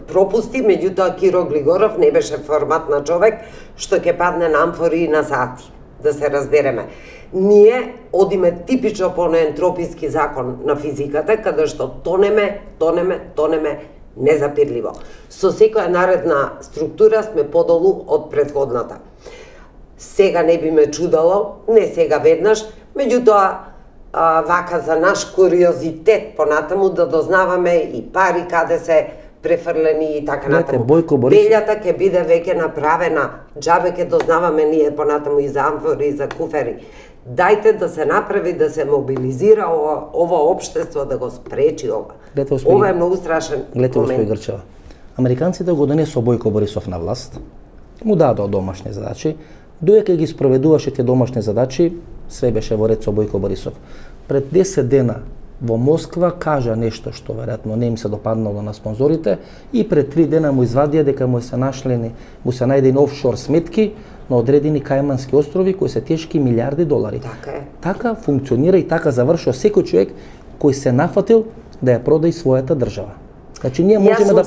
пропусти, меѓутоа Киро Глигоров не беше форматна човек што ќе падне на амфори и на сати, да се разбереме. Ние одиме типично по неентрописки закон на физиката, каде што тонеме незапирливо. Со секоја наредна структура сме подолу од претходната. Сега не би ме чудало, не сега веднаш, меѓутоа вака за наш куриозитет понатаму да дознаваме и пари каде се префрлени и така натаму. Белјата ќе биде веќе направена, џабе ќе дознаваме ние понатаму и за амфори и за куфери. Дајте да се направи, да се мобилизира ова општество, да го спречи ова. Ова е многу страшен момент. Гледате, господи Грчева, американците го донесо Бојко Борисов на власт, му дадоа домашни задачи, доека ги спроведуваше те домашни задачи, све беше во ред со Бојко Борисов. Пред 10 дена во Москва кажа нешто што веројатно не им се допаднало на спонзорите и пред 3 дена му извадија дека му се најдени офшор сметки на одредени Кајмански острови кои се тешки милиарди долари. Така е. Така функционира и така завршува секој човек кој се нафатил да ја продаде својата држава. Значи ние можеме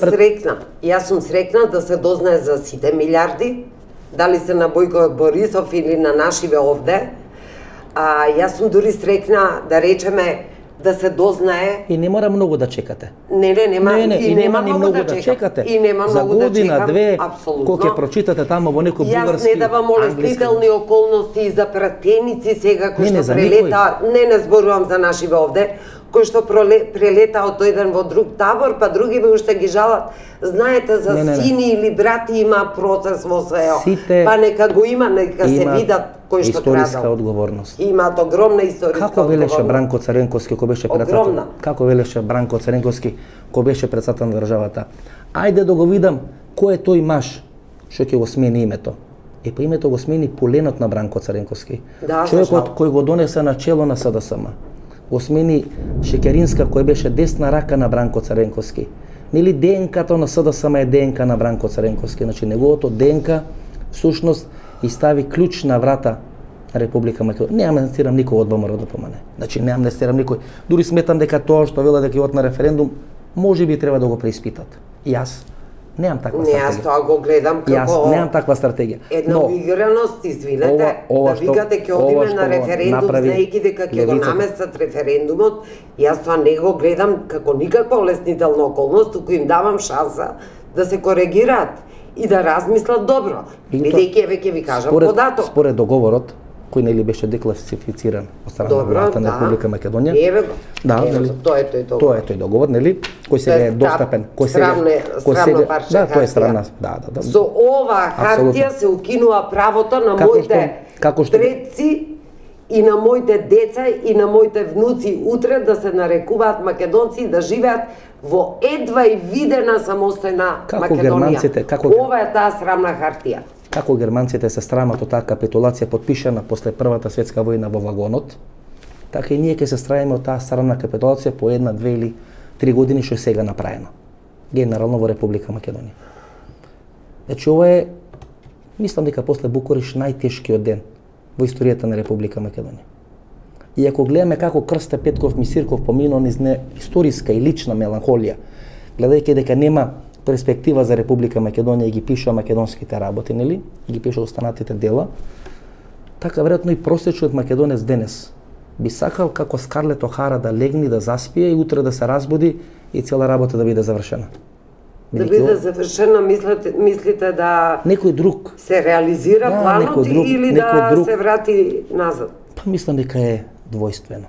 Јас сум срекна да се дознае за сите милиарди, дали се на Бојко Борисов или на нашиве овде. Јас сум дури срекна да речеме да се дознае. И не мора многу да чекате. Нема многу да чекате. И нема за многу да чекам. година, две, апсолутно. кога ќе прочитате тамо во некој бугарски, Јас не давам олестителни околности и за пратеници сега кои што прелета, не зборувам за нашиве овде, кои што прелета од еден во друг табор, па други уште ги жалат. Знаете, за сини или брати има процес во СЕО. Па нека го има, нека се видат кој што крадал. Историска одговорност. Имаат огромна историска одговорност. Како велеше Бранко Царенковски кој беше председател? Како велеше Бранко Царенковски кој беше председател на државата? Ајде да го видам кој е тој маж што ќе го смени името. Е, па името го смени поленот на Бранко Царенковски. Да, човекот кој го донесе на чело на СДСМ. Го смени Шекеринска кој беше десна рака на Бранко Царенковски. Нели ДНК-то на СДСМ е ДНК на Бранко Царенковски, значи неговото ДНК всушност и стави клjuč на врата на Република Македонија. Не амнестирам никој од ВМРО да помане. Значи не амнестирам никој. Дури сметам дека тоа што вела дека ќе на референдум, можеби треба да го преиспитат. Јас немам таква стратегија. Јас тоа го гледам како Јас немам таква стратегија. Една уиграност, извинете, да викате ќе одиме на референдум, знаејќи дека ќе го наместат референдумот. Јас тоа не го гледам како никаква олеснителна околност, туку им давам шанса да се коригираат и да размислат добро. Бидејќи еве ќе ви кажам податок. Според договорот кој нели беше декласифициран од страна на владата на Република Македонија. Еве го. Да, нели? Тоа е тој договор. Тоа е тој договор, нели? Кој сега е достапен, кој сега парче. Да, тоа е срамна. Да. Со ова хартија се укинува правото на моите предци и на моите деца и на моите внуци утре да се нарекуваат македонци и да живеат во едва и видена самостојна Македонија. Ова е таа срамна хартија. Како германците се срамат од таа капитулација подпишана после Првата светска војна во вагонот, така и ние ќе се срамиме од таа срамна капитулација по 1, 2 или 3 години што е сега направено. Генерално во Република Македонија. Значи ова е, мислам дека после Букуреш најтешкиот ден во историјата на Република Македонија. И ако гледаме како Крсте Петков Мисирков поминал низ историска и лична меланхолија, гледајќи дека нема перспектива за Република Македонија и ги пишува македонските работи, нели? И ги пишува останатите дела. Така веројатно и просечниот македонец денес би сакал како Скарлет Охара да легне, да заспие и утре да се разбуди и цела работа да биде завршена. Да биде завршена, мислите да некој друг се реализира планот или да се врати назад? Па мислам дека е двојствено.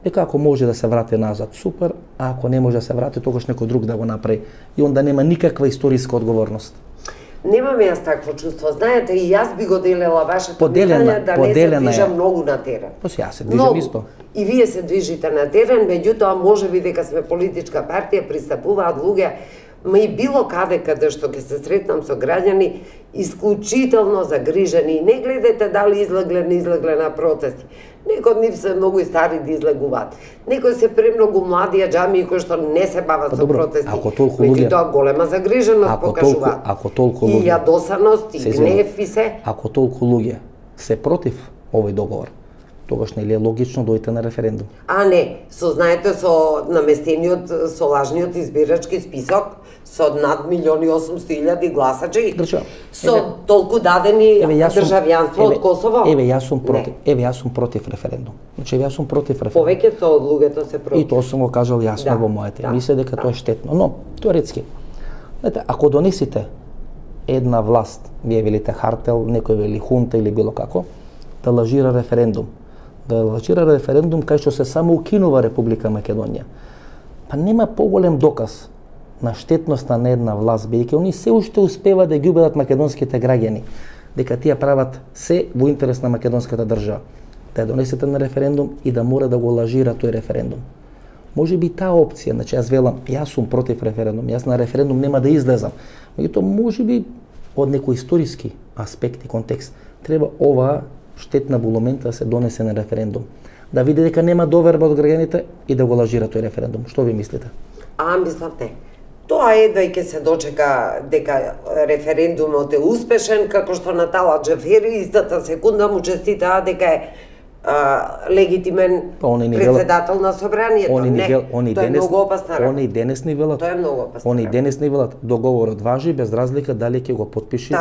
Дека ако може да се врати назад, супер, а ако не може да се врати, тогаш некој друг да го направи. И онда нема никаква историска одговорност. Немам јас такво чувство. Знаете, и јас би го делела вашето мислење да не се движам многу на терен. Па ја се движам исто. И вие се движите на терен, меѓутоа можеби дека сме политичка партија, пристапуваат луѓе, ма и било каде што ќе се сретнам со граѓани, исклучително загрижени. Не гледате дали излегле, не излегле на протести. Некои од нив се многу и стари да излегуваат. Некои се премногу млади аџамии кои што не се бават со протести. Меѓутоа голема загриженост покажуваат. Ако толку луѓе и јадосаност, и гнев и се. Ако толку луѓе се против овој договор, тогаш нели е логично дојдете на референдум? А не, знаете, со наместениот, со лажниот избирачки список, со над 1.800.000 гласачи, со толку дадени државјанство од Косово. Јас сум против референдум. Значи, јас сум против референдум. Повеќето од луѓето се против. И тоа сум го кажал јасно во моите емисија дека тоа е штетно. Но, теоретски, знаете, ако донесите една власт, вие велите хартел, некој вели хунта или било како, да лажира референдум, кај што се само укинува Република Македонија. Па нема поголем доказ на штетноста на една власт, бидејќи они се уште успеваат да ги убедат македонските граѓани дека тие прават се во интерес на македонската држава. Да ја донесете на референдум и да мора да го лажира тој референдум. Може би таа опција, значи јас велам, јас сум против референдум, јас на референдум нема да излезам. Меѓутоа може би од некој историски аспект и контекст треба оваа штетна булумента да се донесе на референдум. Да види дека нема доверба од граѓаните и да го лажира тој референдум. Што ви мислите? Мислам не. Тоа едва и ќе се дочека дека референдумот е успешен, како што Натала Џафери истата секунда му честитаа дека е легитимен председател на собранието. Тоа е многу опасна работа. Они денес ни велат. Тоа е многу опасна. Они денес ни велат договорот важи без разлика дали ќе го потпише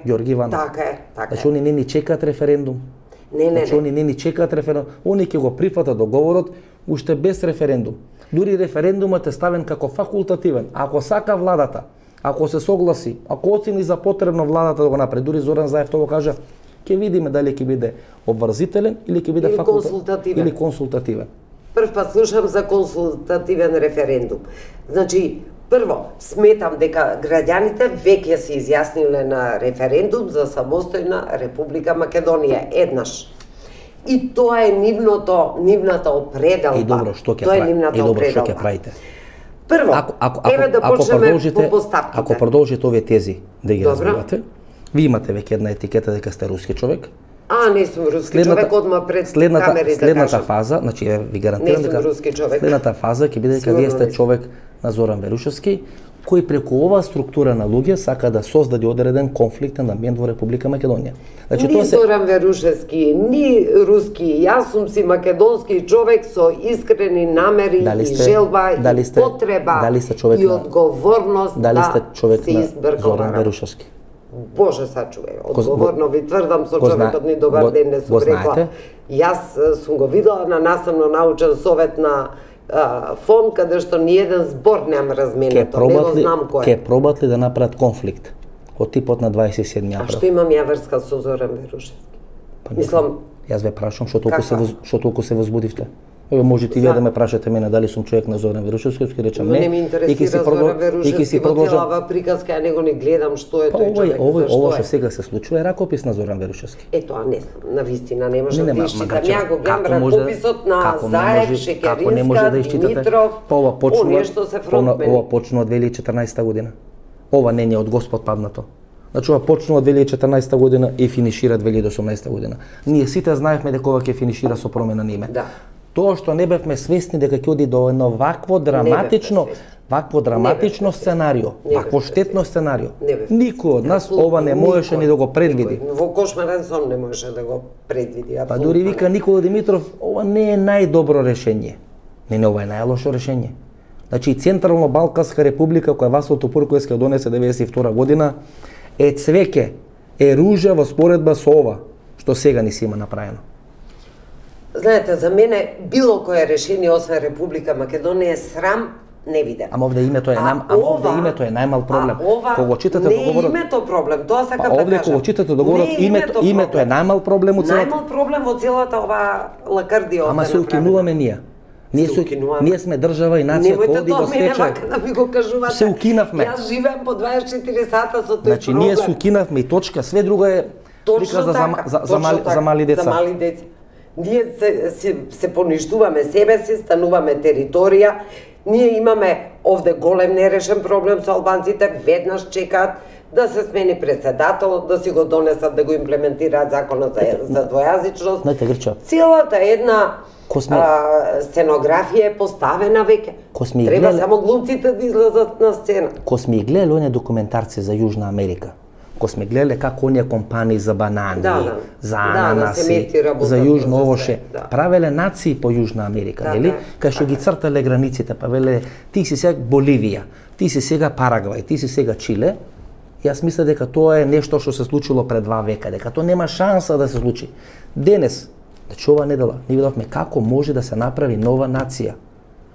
Ѓорги Иванов. Така е. Значи они не ни чекаат референдум. Значи они не ни чекаат референдум. Они ќе го прифатат договорот уште без референдум. Дури референдумот е ставен како факултативен. Ако сака владата, ако се согласи, ако оцени за потребно владата да го направи, дури Зоран Заев тоа го кажа, ќе видиме дали ќе биде обврзителен или ќе биде консултативен. Или консултативен. Прв пат слушам за консултативен референдум. Значи, прво, сметам дека граѓаните веќе се изјасниле на референдум за самостојна Република Македонија еднаш. И тоа е нивната определба. И добро, што ќе правите? Прво, еве да почнеме по постапките. Ако продолжите овие тези да ги развивате, ви имате веќе една етикета дека сте руски човек. Не сум руски човек, одма пред камерите. Следната фаза, значи ви гарантирам дека следната фаза ќе биде дека вие сте човек на Зоран Верушевски, кој преку оваа структура на луѓе сака да создаде одреден конфликтен амбиент во Република Македонија. Значи ни Зоран Верушевски, ни руски, јас сум си македонски човек со искрени намери и желба и потреба и одговорност да се избркам. Зоран Верушевски. Боже сачувај, одговорно ви тврдам со човекот ни добар ден не сум рекла. Јас сум го видела на наставно-научен совет на фонд каде што ни еден збор нема разменето, не го знам кој. Ке пробат ли да направат конфликт од типот на 27 април? А што имам ја врска со Зоран Верушевски? Мислам, јас ве прашам што толку се возбудивте. Еве можете и вие да ме прашате мене дали сум човек на Зоран Верушевски, ќе речам не. Не ми интересира Зоран Верушевски, во целава приказка, ја него не гледам што е тој човек. Ова што сега се случува е ракопис на Зоран Верушевски. Тоа не знам, навистина не може да исчитам. Ја го гледам ракописот на Заев, Шекеринска, Димитров, оние што се фронтмени. Ова почнува од 2014 година. Ова не е од Господ паднато. Значи ова почнува од 2014 година и финишира 2018 година. Ние сите знаевме дека ова ќе финишира со промена на име. Тоа што не бевме свесни дека ќе оди до едно вакво драматично сценарио, вакво штетно сценарио. Никој од нас ова не можеше ни да го предвиди. Во кошмарен сон не можеше да го предвиди. Па дури вика Никола Димитров, ова не е најдобро решение. Не, ова е најлошо решение. Значи Централно-Балканска република која Васил Топурковски донесе 92 година е цвеќе, е ружа во споредба со ова што сега ни се има направено. Знаете, за мене било кое решение освен Република Македонија е срам невиден. Ама овде името е најмал проблем. Кога читате договорот, не името проблем, тоа сакам да кажам. Овде кога читате договорот, името е најмал проблем од целата. Најмал проблем од целата ова лакардија. Ама се укинуваме ние. Ние сме држава и нација која оди во стечај. Немојте да ми го кажувате. Се укинавме. Јас живеам по 24 сата со тој проблем. Ние се укинавме и точка, све друго е приказ за мали деца. За мали деца. Ние се поништуваме себе си, стануваме територија. Ние имаме овде голем нерешен проблем со албанците, веднаш чекаат да се смени председател, да си го донесат, да го имплементираат законот за двојазичност. Целата една сценографија е поставена веќе. Треба само глумците да излезат на сцена. Ко сме гледали оние документарци за Јужна Америка, ко сме гледали како оние компании за банани, за ананаси, за Јужно овоше, правеле нации по Јужна Америка, нели? Кај што ги цртале границите, па веле ти си сега Боливија, ти си сега Парагвај, ти си сега Чиле. Јас мисля дека тоа е нешто што се случило пред 2 века, дека тоа нема шанса да се случи. Денес, значи ова недела, ние видовме како може да се направи нова нација.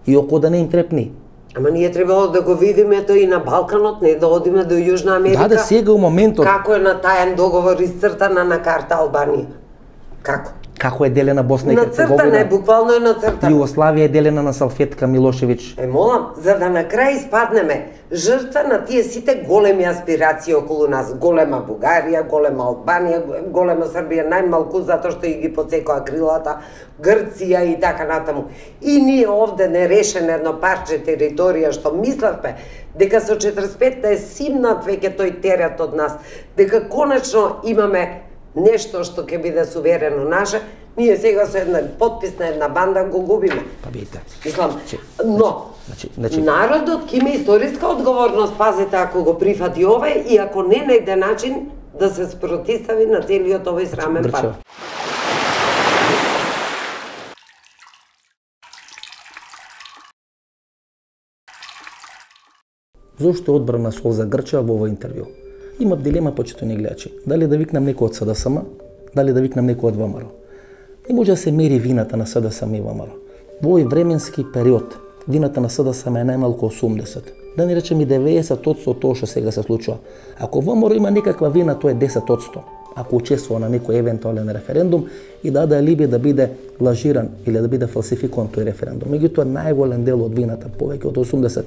И око да не им трепни. Ама ние требало да го видиме тоа и на Балканот, не да одиме до Јужна Америка. Да, сега у моментот. Како е на тајен договор изцртана на карта Албанија? Како? Како е делена Босна и Херцеговина? Нацртана е, буквално е нацртана. Југославија е делена на салфетка Милошевиќ. Молам, за да на крај испаднеме жртва на тие сите големи аспирации околу нас. Голема Бугарија, голема Албанија, голема Србија, најмалку затоа што и ги подсекоа крилата, Грција и така натаму. И ние овде нерешен едно парче територија што мислевме дека со 45-та е симнат веќе тој терет од нас, дека конечно имаме нешто што ќе биде суверено наше, ние сега со една подпис на една банда го губиме. Па бидете. Мислам, но народот ќе има историска одговорност, пазете, ако го прифати овој и ако не најде начин да се спротистави на целиот овој срамен пат. Зошто одбрана сол за Грчева во ова интервју? Имав дилема, почитувани гледачи, дали да викнам некој од СДСМ, дали да викнам некој од ВМРО. Не може да се мери вината на СДСМ и ВМРО. Во овој временски период, вината на СДСМ е најмалку 80. Да не речем и 90% од тоа што сега се случува. Ако ВМРО има некаква вина, тоа е 10%. Ако учествува на некој евентуален референдум и даде алиби да биде лажиран или да биде фалсификуван тој референдум. Меѓутоа најголем дел од вината, повеќе од 80,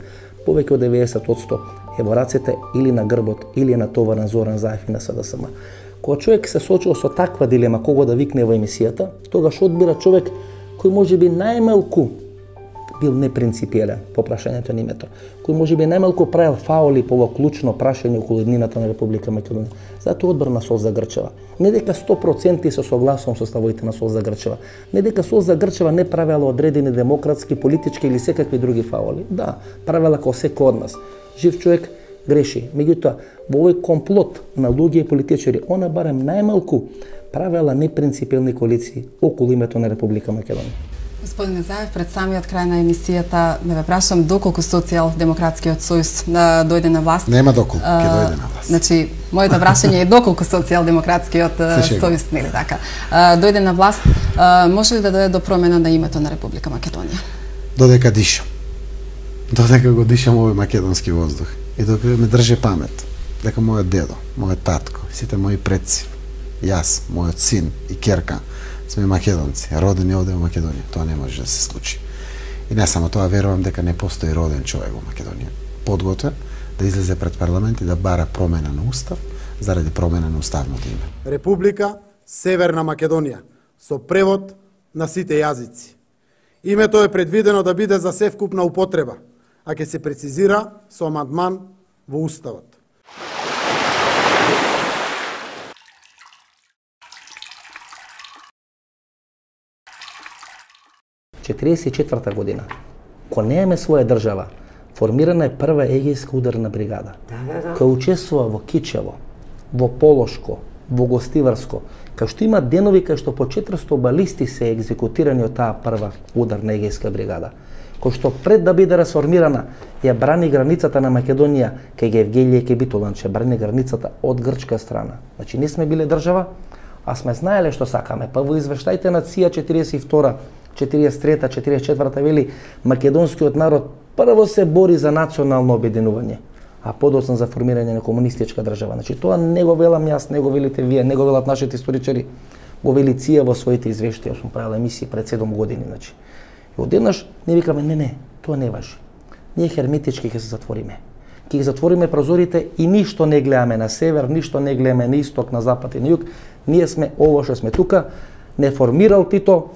повеќе од 90% е во рацете или на грбот или на товарен Зоран Заев и на СДСМ. Кога човек се соочува со таква дилема кого да викне во емисијата, тогаш одбира човек кој можеби најмалку бил непринципиелен по прашањето на името, кој можеби најмалку правил фаули по ова клучно прашање околу еднината на Република Македонија. Затоа одбрана Сол за Грчева. Не дека 100% се согласувам со ставовите на Сол за Грчева. Не дека Сол за Грчева не правела одредени демократски, политички или секакви други фаули. Да, правела како секој од нас. Жив човек греши. Меѓутоа, во овој комплот на луѓе и политичари, она барем најмалку правела непринципиелни коалиции околу името на Република Македонија. Господине Заев, пред самиот крај на емисијата да ве прашам доколку Социјалдемократскиот сојуз дојде на власт. Нема доколку ќе дојде на власт. Значи, моето прашање е доколку Социјалдемократскиот сојуз, нели така, дојде на власт, може ли да дојде до промена на името на Република Македонија? Додека дишам. Додека го дишам овој македонски воздух и додека ме држи памет дека мојот дедо, мојот татко, сите мои предци, јас, мојот син и ќерка сме македонци, родени овде во Македонија. Тоа не може да се случи. И не само тоа, верувам дека не постои роден човек во Македонија подготвен да излезе пред парламент и да бара промена на устав заради промена на уставното име. Република Северна Македонија со превод на сите јазици. Името е предвидено да биде за севкупна употреба, а ќе се прецизира со амандман во уставот. В 1944 година, кога немаме своја држава, формирана е прва егејска ударна бригада, која учествува во Кичево, во Полошко, во Гостиварско, кај што има денови кај што по 400 балисти се екзекутирани од таа прва ударна егејска бригада, кој што пред да биде расформирана ја брани границата на Македонија кај Евгелија и Битоланче, брани границата од грчка страна. Значи, не сме биле држава, а сме знаеле што сакаме. Па во извештајте на ЦИА 42 43-та, 44-та вели македонскиот народ прво се бори за национално обединување, а подоцна за формирање на комунистичка држава. Значи тоа не го велам јас, не го велите вие, не го велат нашите историчари, го вели ЦИА во своите извештаи. Јас сум правил емисии пред 7 години, значи. И одеднаш ние викаме не, тоа не важи. Ние херметички ќе се затвориме. Ќе ги затвориме прозорите и ништо не гледаме на север, ништо не гледаме на исток, на запад и на југ. Ние сме ово што сме тука, не формирал Тито,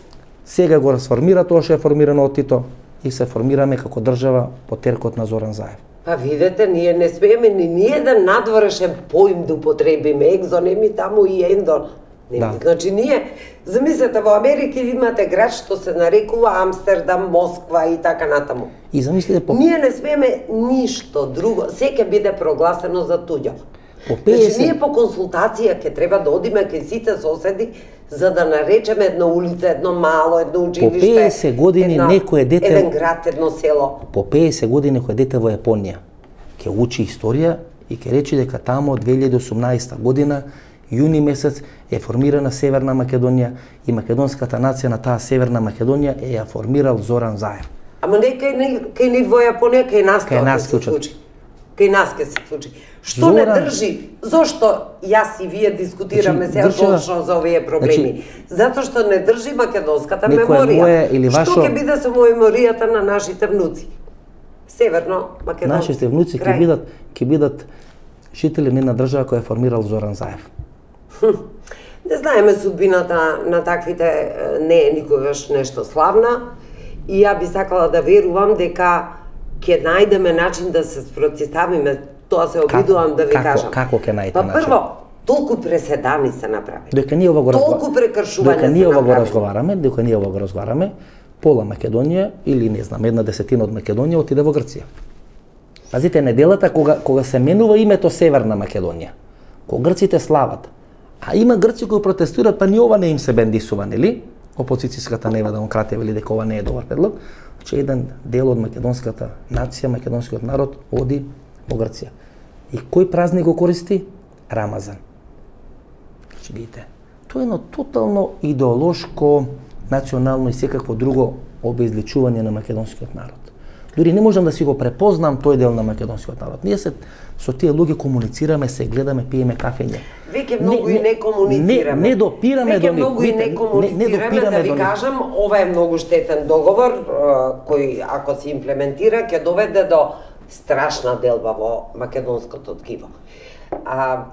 сега го расформира тоа што е формирано од Тито и се формираме како држава по теркот на Зоран Заев. Па видете, ние не смееме ни ниеден надворешен поим да употребиме, екзонеми таму и ендон. Да. Значи ние, замислете, во Америка имате град што се нарекува Амстердам, Москва и така натаму. И замислите Ние не смееме ништо друго, се ќе биде прогласено за туѓо. По Значи ние по консултација ќе треба да одиме кај сите соседи за да наречеме една улица, едно мало, едно училиште. По 50 години некој дете еден град, едно село. По 50 години некој дете во Јапонија ќе учи историја и ќе речи дека таму од 2018 година јуни месец е формирана Северна Македонија и македонската нација на таа Северна Македонија е ја формирал Зоран Заев. Ама не кај ни во Јапонија, кај нас ќе се случи. Кај нас ќе се случи. Што не држи? Зошто јас и вие дискутираме сега точно за овие проблеми? Затоа што не држи македонската меморија. Што ќе биде со меморијата на нашите внуци? Северно македонски. Нашите внуци ќе бидат жители на една држава која е формирал Зоран Заев. Не знаеме судбината на таквите, не е никогаш нешто славна и ја би сакала да верувам дека ќе најдеме начин да се спротивставиме. Тоа се обидувам да ви кажам. Како ќе најдете начин? Па прво, толку преседани се направи. Дека ние ова толку прекршување се направи. Дека ние ова го разговараме, пола Македонија или не знам, 1/10 од Македонија отиде во Грција. Пазите, неделата кога се менува името Северна Македонија, кога грците слават, а има грци кои протестираат, па ни ова не им се бендисува, нели? Опозицијската Нева демократија вели дека ова не е добар предлог, че еден дел од македонската нација, македонскиот народ оди во Грција. И кој празник го користи? Рамазан. Значи, видите, тоа е едно тотално идеолошко, национално и секакво друго обезличување на македонскиот народ. Дури не можам да си го препознам тој дел на македонскиот народ. Ние се со тие луѓе комуницираме, се гледаме, пиеме кафење. Веќе многу и не комуницираме. Не допираме до нив. Веќе многу и не комуницираме, да ви кажам, ова е многу штетен договор кој ако се имплементира ќе доведе до страшна делба во македонското ткиво.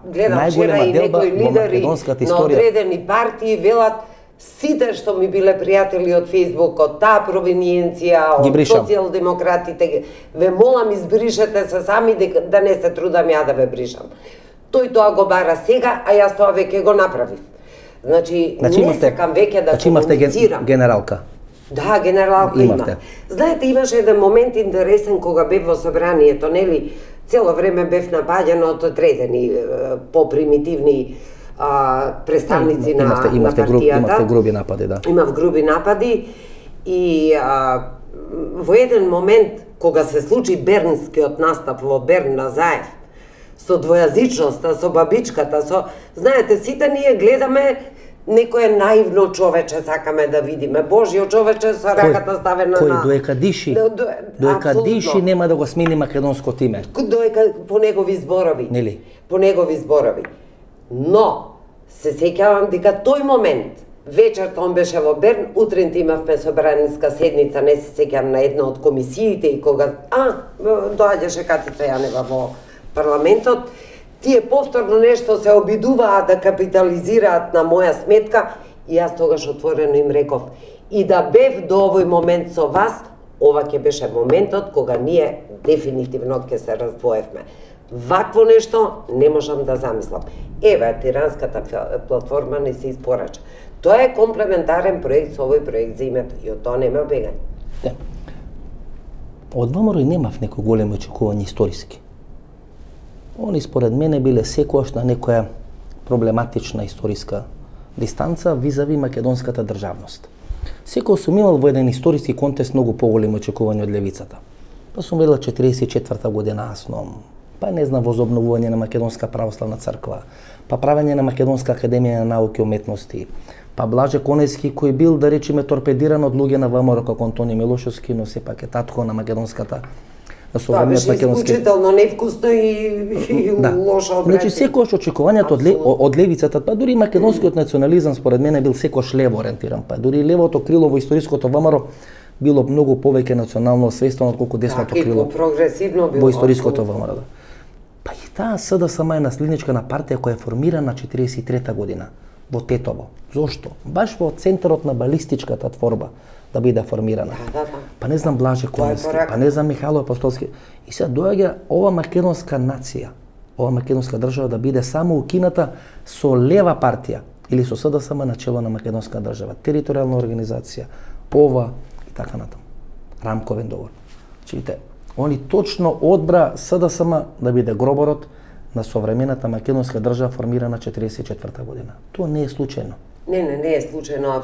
Гледам вчера и некои лидери на одредени партии велат сите што ми биле пријатели од Фејсбук, од таа провиниенција, од социјалдемократите, ве молам избришете се сами да не се трудам ја да ве бришам. Тој тоа го бара сега, а јас тоа веќе го направив. Значи не сакам веќе да комуницирам. Генералка. Да, генералка има. Знаете, имаше еден момент интересен кога бев во собранието, нели? Цело време бев напаѓан од одредени попримитивни представници на партијата. Имавте груби напади, да. Имав груби напади и во еден момент кога се случи бернскиот настап во Берн на Заев, со двојазичноста, со бабичката, знаете, сите ние гледаме некое наивно човече сакаме да видиме. Божјо човече со раката ставена на... Кој доека диши нема да го смени македонското име. Доека по негови зборови. Нели? По негови зборови. Но се сеќавам дека тој момент, вечерта он беше во Берн, утринта имавме собраниска седница, не се сеќавам на една од комисиите и кога доаѓаше Катица Јанева во парламентот, тие повторно нешто се обидуваат да капитализираат на моја сметка и јас тогаш отворено им реков и да бев до овој момент со вас, ова ќе беше моментот кога ние дефинитивно ќе се раздвоевме. Вакво нешто не можам да замислам. Еве, тиранската платформа не се испорача. Тоа е комплементарен проект со овој проект за името и од тоа нема бегање. Да. Од ВМРО немав некои големи очекувања историски. Они според мене биле секојаш на некоја проблематична историска дистанца визави македонската државност. Секој сум имал во еден историски контекст многу поголеми очекувања од левицата. Па сум велел 44-та година Асном, па не знам возобновување на Македонска православна црква, па правење на Македонска академија на науки и уметности, па Блаже Конејски кој бил да речеме торпедиран од луѓе на ВМРО како Антони Милошевски, но сепак е татко на македонската на современиот македонски. Тоа беше исклучително невкусно и лошо обраќање. Значи секојаш очекувањето од левицата, па дури македонскиот национализам според мене бил секојаш лево ориентиран, па дури левото крило во историското ВМРО било многу повеќе национално освестено отколку десното крило. И прогресивно било во историското ВМРО. Па и таа СДСМ е наследничка на партија која е формирана 43-та година во Тетово. Зошто? Баш во центарот на балистичката творба да биде формирана. Па не знам Блаже Коневски, па не знам Михајло Апостолски. И сега доаѓа ова македонска нација, ова македонска држава да биде само укината со лева партија или со СДСМ на чело на македонска држава, територијална организација, ова и така натаму. Рамковен договор. Чите, они точно одбра СДСМ да биде гроборот на современата македонска држава формирана 44-та година. Тоа не е случајно. Не е случајно,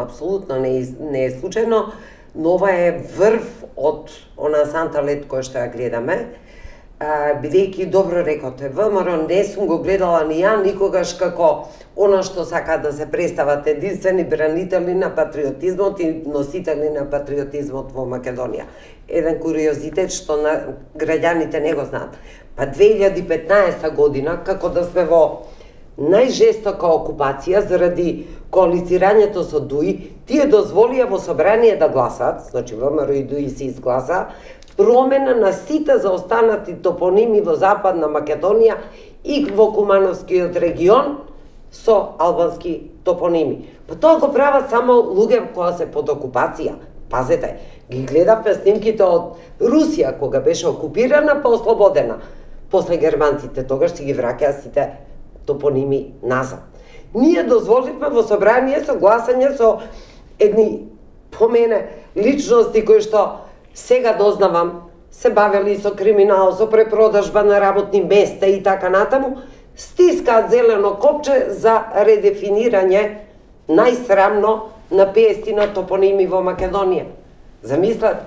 апсолутно не е случајно, но ова е врв од она санта лед која што ја гледаме. Бидејќи добро рекоте, ВМРО не сум го гледала ни ја никогаш како она што сака да се представат единствени бранители на патриотизмот и носители на патриотизмот во Македонија. Еден куриозитет што граѓаните не го знаат. Па 2015 година, како да сме во најжестока окупација заради коалицирањето со ДУИ, тие дозволија во собрание да гласат, значи ВМРО и ДУИ се изгласа, промена на сите заостанати топоними во Западна Македонија и во Кумановскиот регион со албански топоними. Па тоа го прават само луѓе кои се под окупација. Пазете, ги гледавме снимките од Русија кога беше окупирана па ослободена. После германците тогаш си ги враќаа сите топоними назад. Ние дозволивме во собрание со гласање со едни по мене личности кои што сега дознавам се бавели со криминал, со препродажба на работни места и така натаму, стискаат зелено копче за редефинирање најсрамно на 50 топоними во Македонија. Замислете,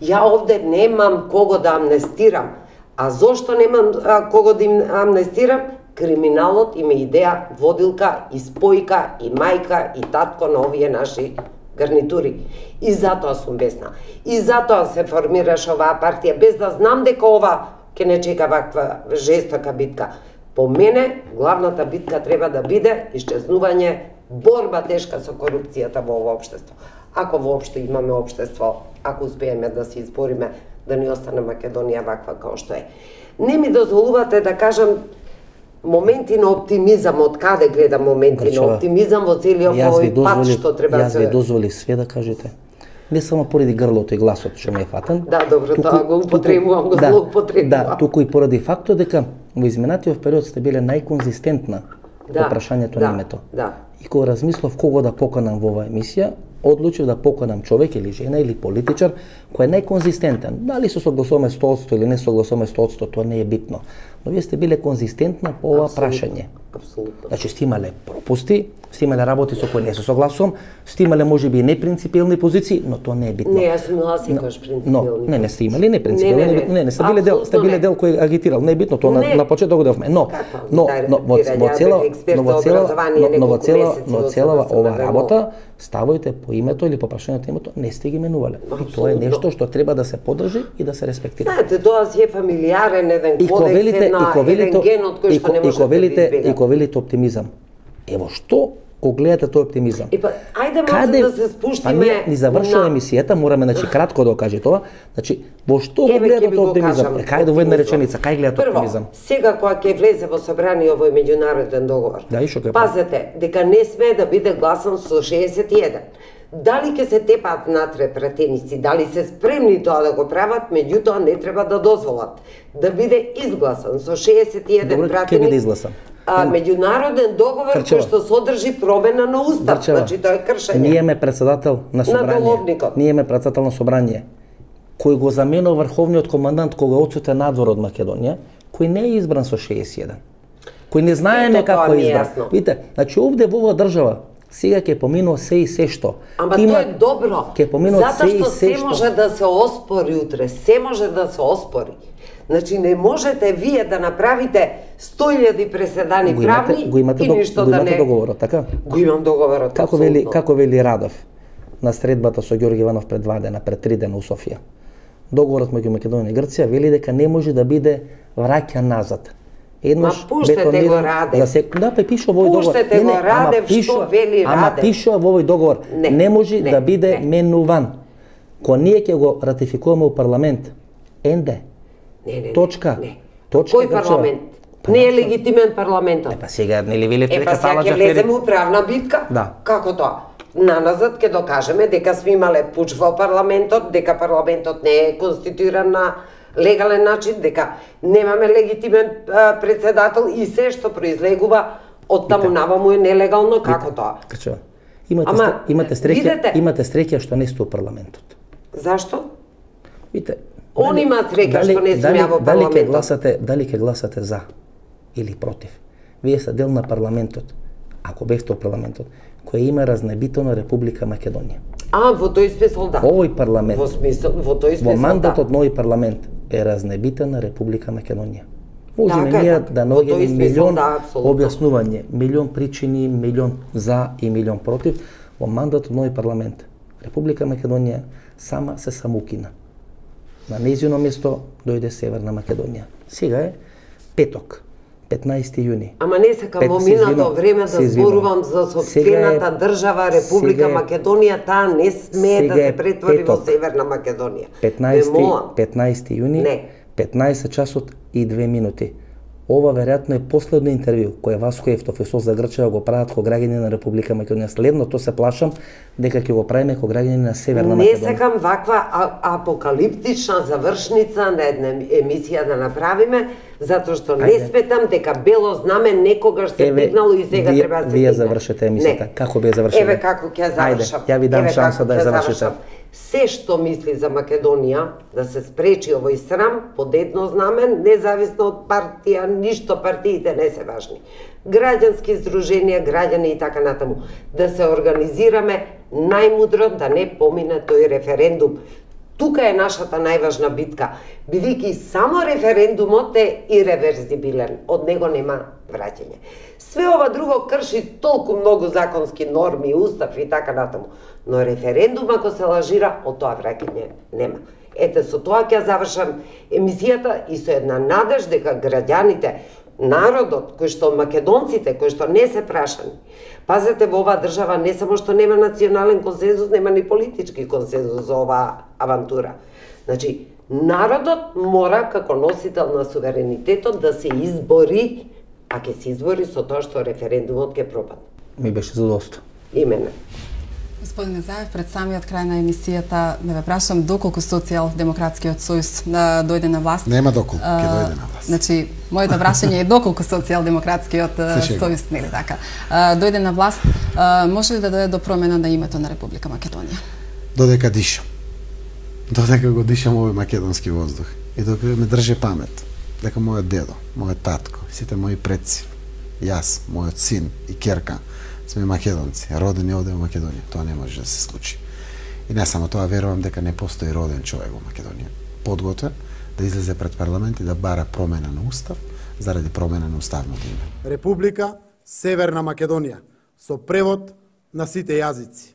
ја овде немам кого да амнестирам. А зошто немам кого да им амнестирам? Криминалот има идеја водилка и спојка и мајка и татко на овие наши гарнитури. И затоа сум бесна. И затоа се формираше оваа партија, без да знам дека ова ќе не чека ваква жестока битка. По мене, главната битка треба да биде исчезнување, борба тешка со корупцијата во ова општество. Ако воопшто имаме општество, ако успееме да се избориме да ни остане Македонија ваква како што е. Не ми дозволувате да кажам моменти на оптимизам, од каде гледам моменти на оптимизам во целиот овој пат што треба да се... Јас ви дозволи све да кажете. Не само поради грлото и гласот што ми е фатен. Да, добро, тоа го употребувам, го злоупотребувам. Да, туку и поради фактот дека во изминатиот период сте биле најконзистентна по прашањето на името. И кога размислов кого да поканам во оваа емисија, одлучив да поканам човек или жена или политичар кој е најконзистентен. Дали се согласуваме 100% или не согласуваме 100%, тоа не е битно. Но вие сте биле конзистентна по ова прашање. Апсолутно. Значи сте имале пропусти, сте имале работи со кои не се согласувам, сте имале можеби непринципиелни позиции, но тоа не е битно. Не, јас сум имала секогаш принципиелни. Не сте имали непринципиелни, не сте биле дел кој агитирал, не е битно, тоа на почеток го девме. Но во цела ова работа ставајте по името или по прашањето името, не сте ги менувале. И тоа е нешто што треба да се поддржи и да се респектира. Знаете, тоа си е фамилиарен еден кодекс, еден ген од кој што не може да избега. И ко велите оптимизам. Ево што го гледате тој оптимизам? Ајде може да се спуштиме. Ни завршува емисијата, мораме кратко да кажи тоа. Значи, во што го гледате тој оптимизам? Кај во една реченица, кај гледате оптимизам? Прво, сега кога ќе влезе во собрание овој меѓународен договор. Пазете, дека не смее да биде гласан со 61. Дали ќе се тепаат натре пратеници, дали се спремни тоа да го прават, меѓутоа не треба да дозволат да биде изгласан со 61 пратеници. Ќе биде изгласан. Меѓународен договор кој што содржи промена на устав, значи тоа е кршење. Ние имаме председател на собрание. Ние имаме председател на собрание кој го заменува врховниот командант кога отсуте надвор од Македонија, кој не е избран со 61. Кој не знаеме како е избран. Видите, значи овде во оваа држава сега ќе поминува се и се што. Ама тоа е добро. Затоа што се може да се оспори утре, се може да се оспори. Значи не можете вие да направите 100.000 преседани правни и ништо да не... Го имате договорот, така? Го имам договорот, Како вели Радов на средбата со Ѓорги Иванов пред 2 дена, пред 3 дена у Софија. Договорот меѓу Македонија и Грција вели дека не може да биде враќан назад. Еднош пуштете го Радев. Да, па пишува во овој договор. Пуштете го Радев, што вели Радев. Ама пишува во овој договор. Не може да биде менуван. Кога ние ќе го ратификуваме у парламент, енде. Не. Точка. Кој парламент? Не е легитимен парламентот. Па сега нели велите дека сега ќе влеземе у правна битка? Да. Како тоа? Наназад ќе докажеме дека сме имале пуч во парламентот, дека парламентот не е конституиран на легален начин, дека немаме легитимен председател и се што произлегува од таму наваму е нелегално, како тоа? Крчева. Имате среќа што не сте у парламентот. Зашто? Видите. Он има среќа што не сме во парламентот. Дали ќе гласате за или против? Вие сте дел на парламентот. Ако бевте во парламентот, кој има разнебитено Република Македонија. Во тој смисол да. Овој парламент. Во тој смисол да. Во мандатот на овој парламент е разнебитена Република Македонија. Можеме ние да наоѓеме милион објаснување, милион причини, милион за и милион против. Во мандатот на овој парламент Република Македонија сама се самоукина. На нејзино место дојде Северна Македонија. Сега е петок, 15 јуни. Ама не сакам во минато време да зборувам за сопствената држава Република Македонија, таа не смее да се претвори во Северна Македонија. 15 јуни, 15 часот и 2 минути. Ова веројатно е последно интервју кое Васко Евтов и Соза Грчева го прават ко граѓани на Република Македонија. Следното се плашам дека ќе го правиме ко граѓани на Северна Македонија. Не сакам ваква апокалиптична завршница на една емисија да направиме, затоа што не сметам дека бело знаме некогаш се дигнало и сега треба да се Вие завршете емисијата. Како би ја завршите? Еве како ќе завршам. Ја ви дам шанса да ја завршите. Се што мисли за Македонија, да се спречи овој срам под едно знамен, независно од партија, ништо партиите не се важни. Граѓански здруженија, граѓани и така натаму. Да се организираме најмудро да не помине тој референдум. Тука е нашата најважна битка, бидејќи само референдумот е ирреверзибилен, од него нема враќање. Све ова друго крши толку многу законски норми, устав и така натаму, но референдум ако се лажира, од тоа враќање нема. Ете, со тоа ќе завршам емисијата и со една надеж дека граѓаните, народот, кој што македонците, кои што не се прашани. Пазете, во оваа држава не само што нема национален консензус, нема ни политички консензус за оваа авантура. Значи, народот мора како носител на суверенитетот да се избори, а ќе се избори со тоа што референдумот ќе пропадне. Ми беше задоволство. Именно. Господине Заев, пред самиот крај на емисијата да ве прашам доколку Социјалдемократскиот сојуз дојде на власт. Нема доколку ќе дојде на власт. Значи, моето прашање е доколку Социјалдемократскиот сојуз, нели така, дојде на власт, може ли да дојде до промена на името на Република Македонија? Додека дишам. Додека го дишам овој македонски воздух. И додека ме држи памет дека мојот дедо, мојот татко, сите мои предци, јас, мојот син и ќерка сме македонци, родени овде во Македонија. Тоа не може да се случи. И не само тоа, верувам дека не постои роден човек во Македонија подготвен да излезе пред парламент и да бара промена на устав заради промена на уставното име. Република Северна Македонија со превод на сите јазици.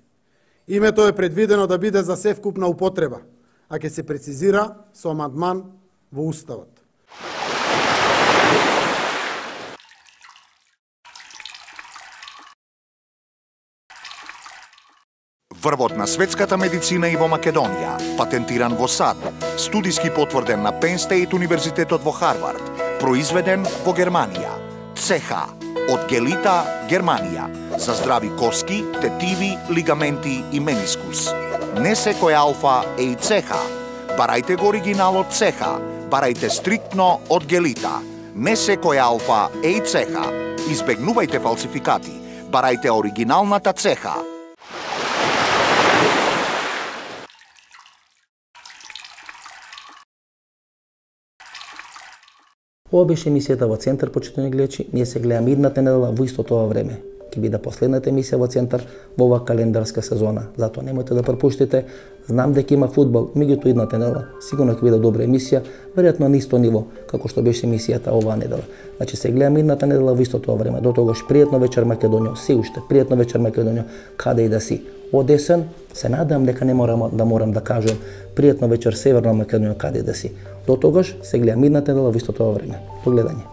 Името е предвидено да биде за севкупна употреба, а ќе се прецизира со амандман во уставот. Врвот на светската медицина и во Македонија, патентиран во САД, студиски потврден на Penn State Универзитетот во Харвард, произведен во Германија. ЦЕХА од Гелита, Германија, за здрави коски, тетиви, лигаменти и менискус. Не секој алфа е и ЦЕХА. Барајте го оригиналот ЦЕХА, барајте стриктно од Гелита. Не секој алфа е и ЦЕХА. Избегнувајте фалсификати, барајте оригиналната ЦЕХА. Ова беше емисијата во Центар, почитувани гледачи. Ние се гледаме идната недела во истото ова време. Ќе биде последната емисија во Центар во оваа календарска сезона. Затоа немојте да пропуштите. Знам дека има фудбал, меѓутоа идната недела сигурно ќе биде добра емисија, веројатно на исто ниво како што беше емисијата оваа недела. Значи се гледаме идната недела во истото ова време. До тогаш пријатно вечер Македонија, се уште пријатно вечер Македонија, каде и да си. Од есен се надам дека не морам да кажам пријатно вечер Северна Македонија, каде и да си. До тогаш се гледаме идната недела во истото ова време. До гледање.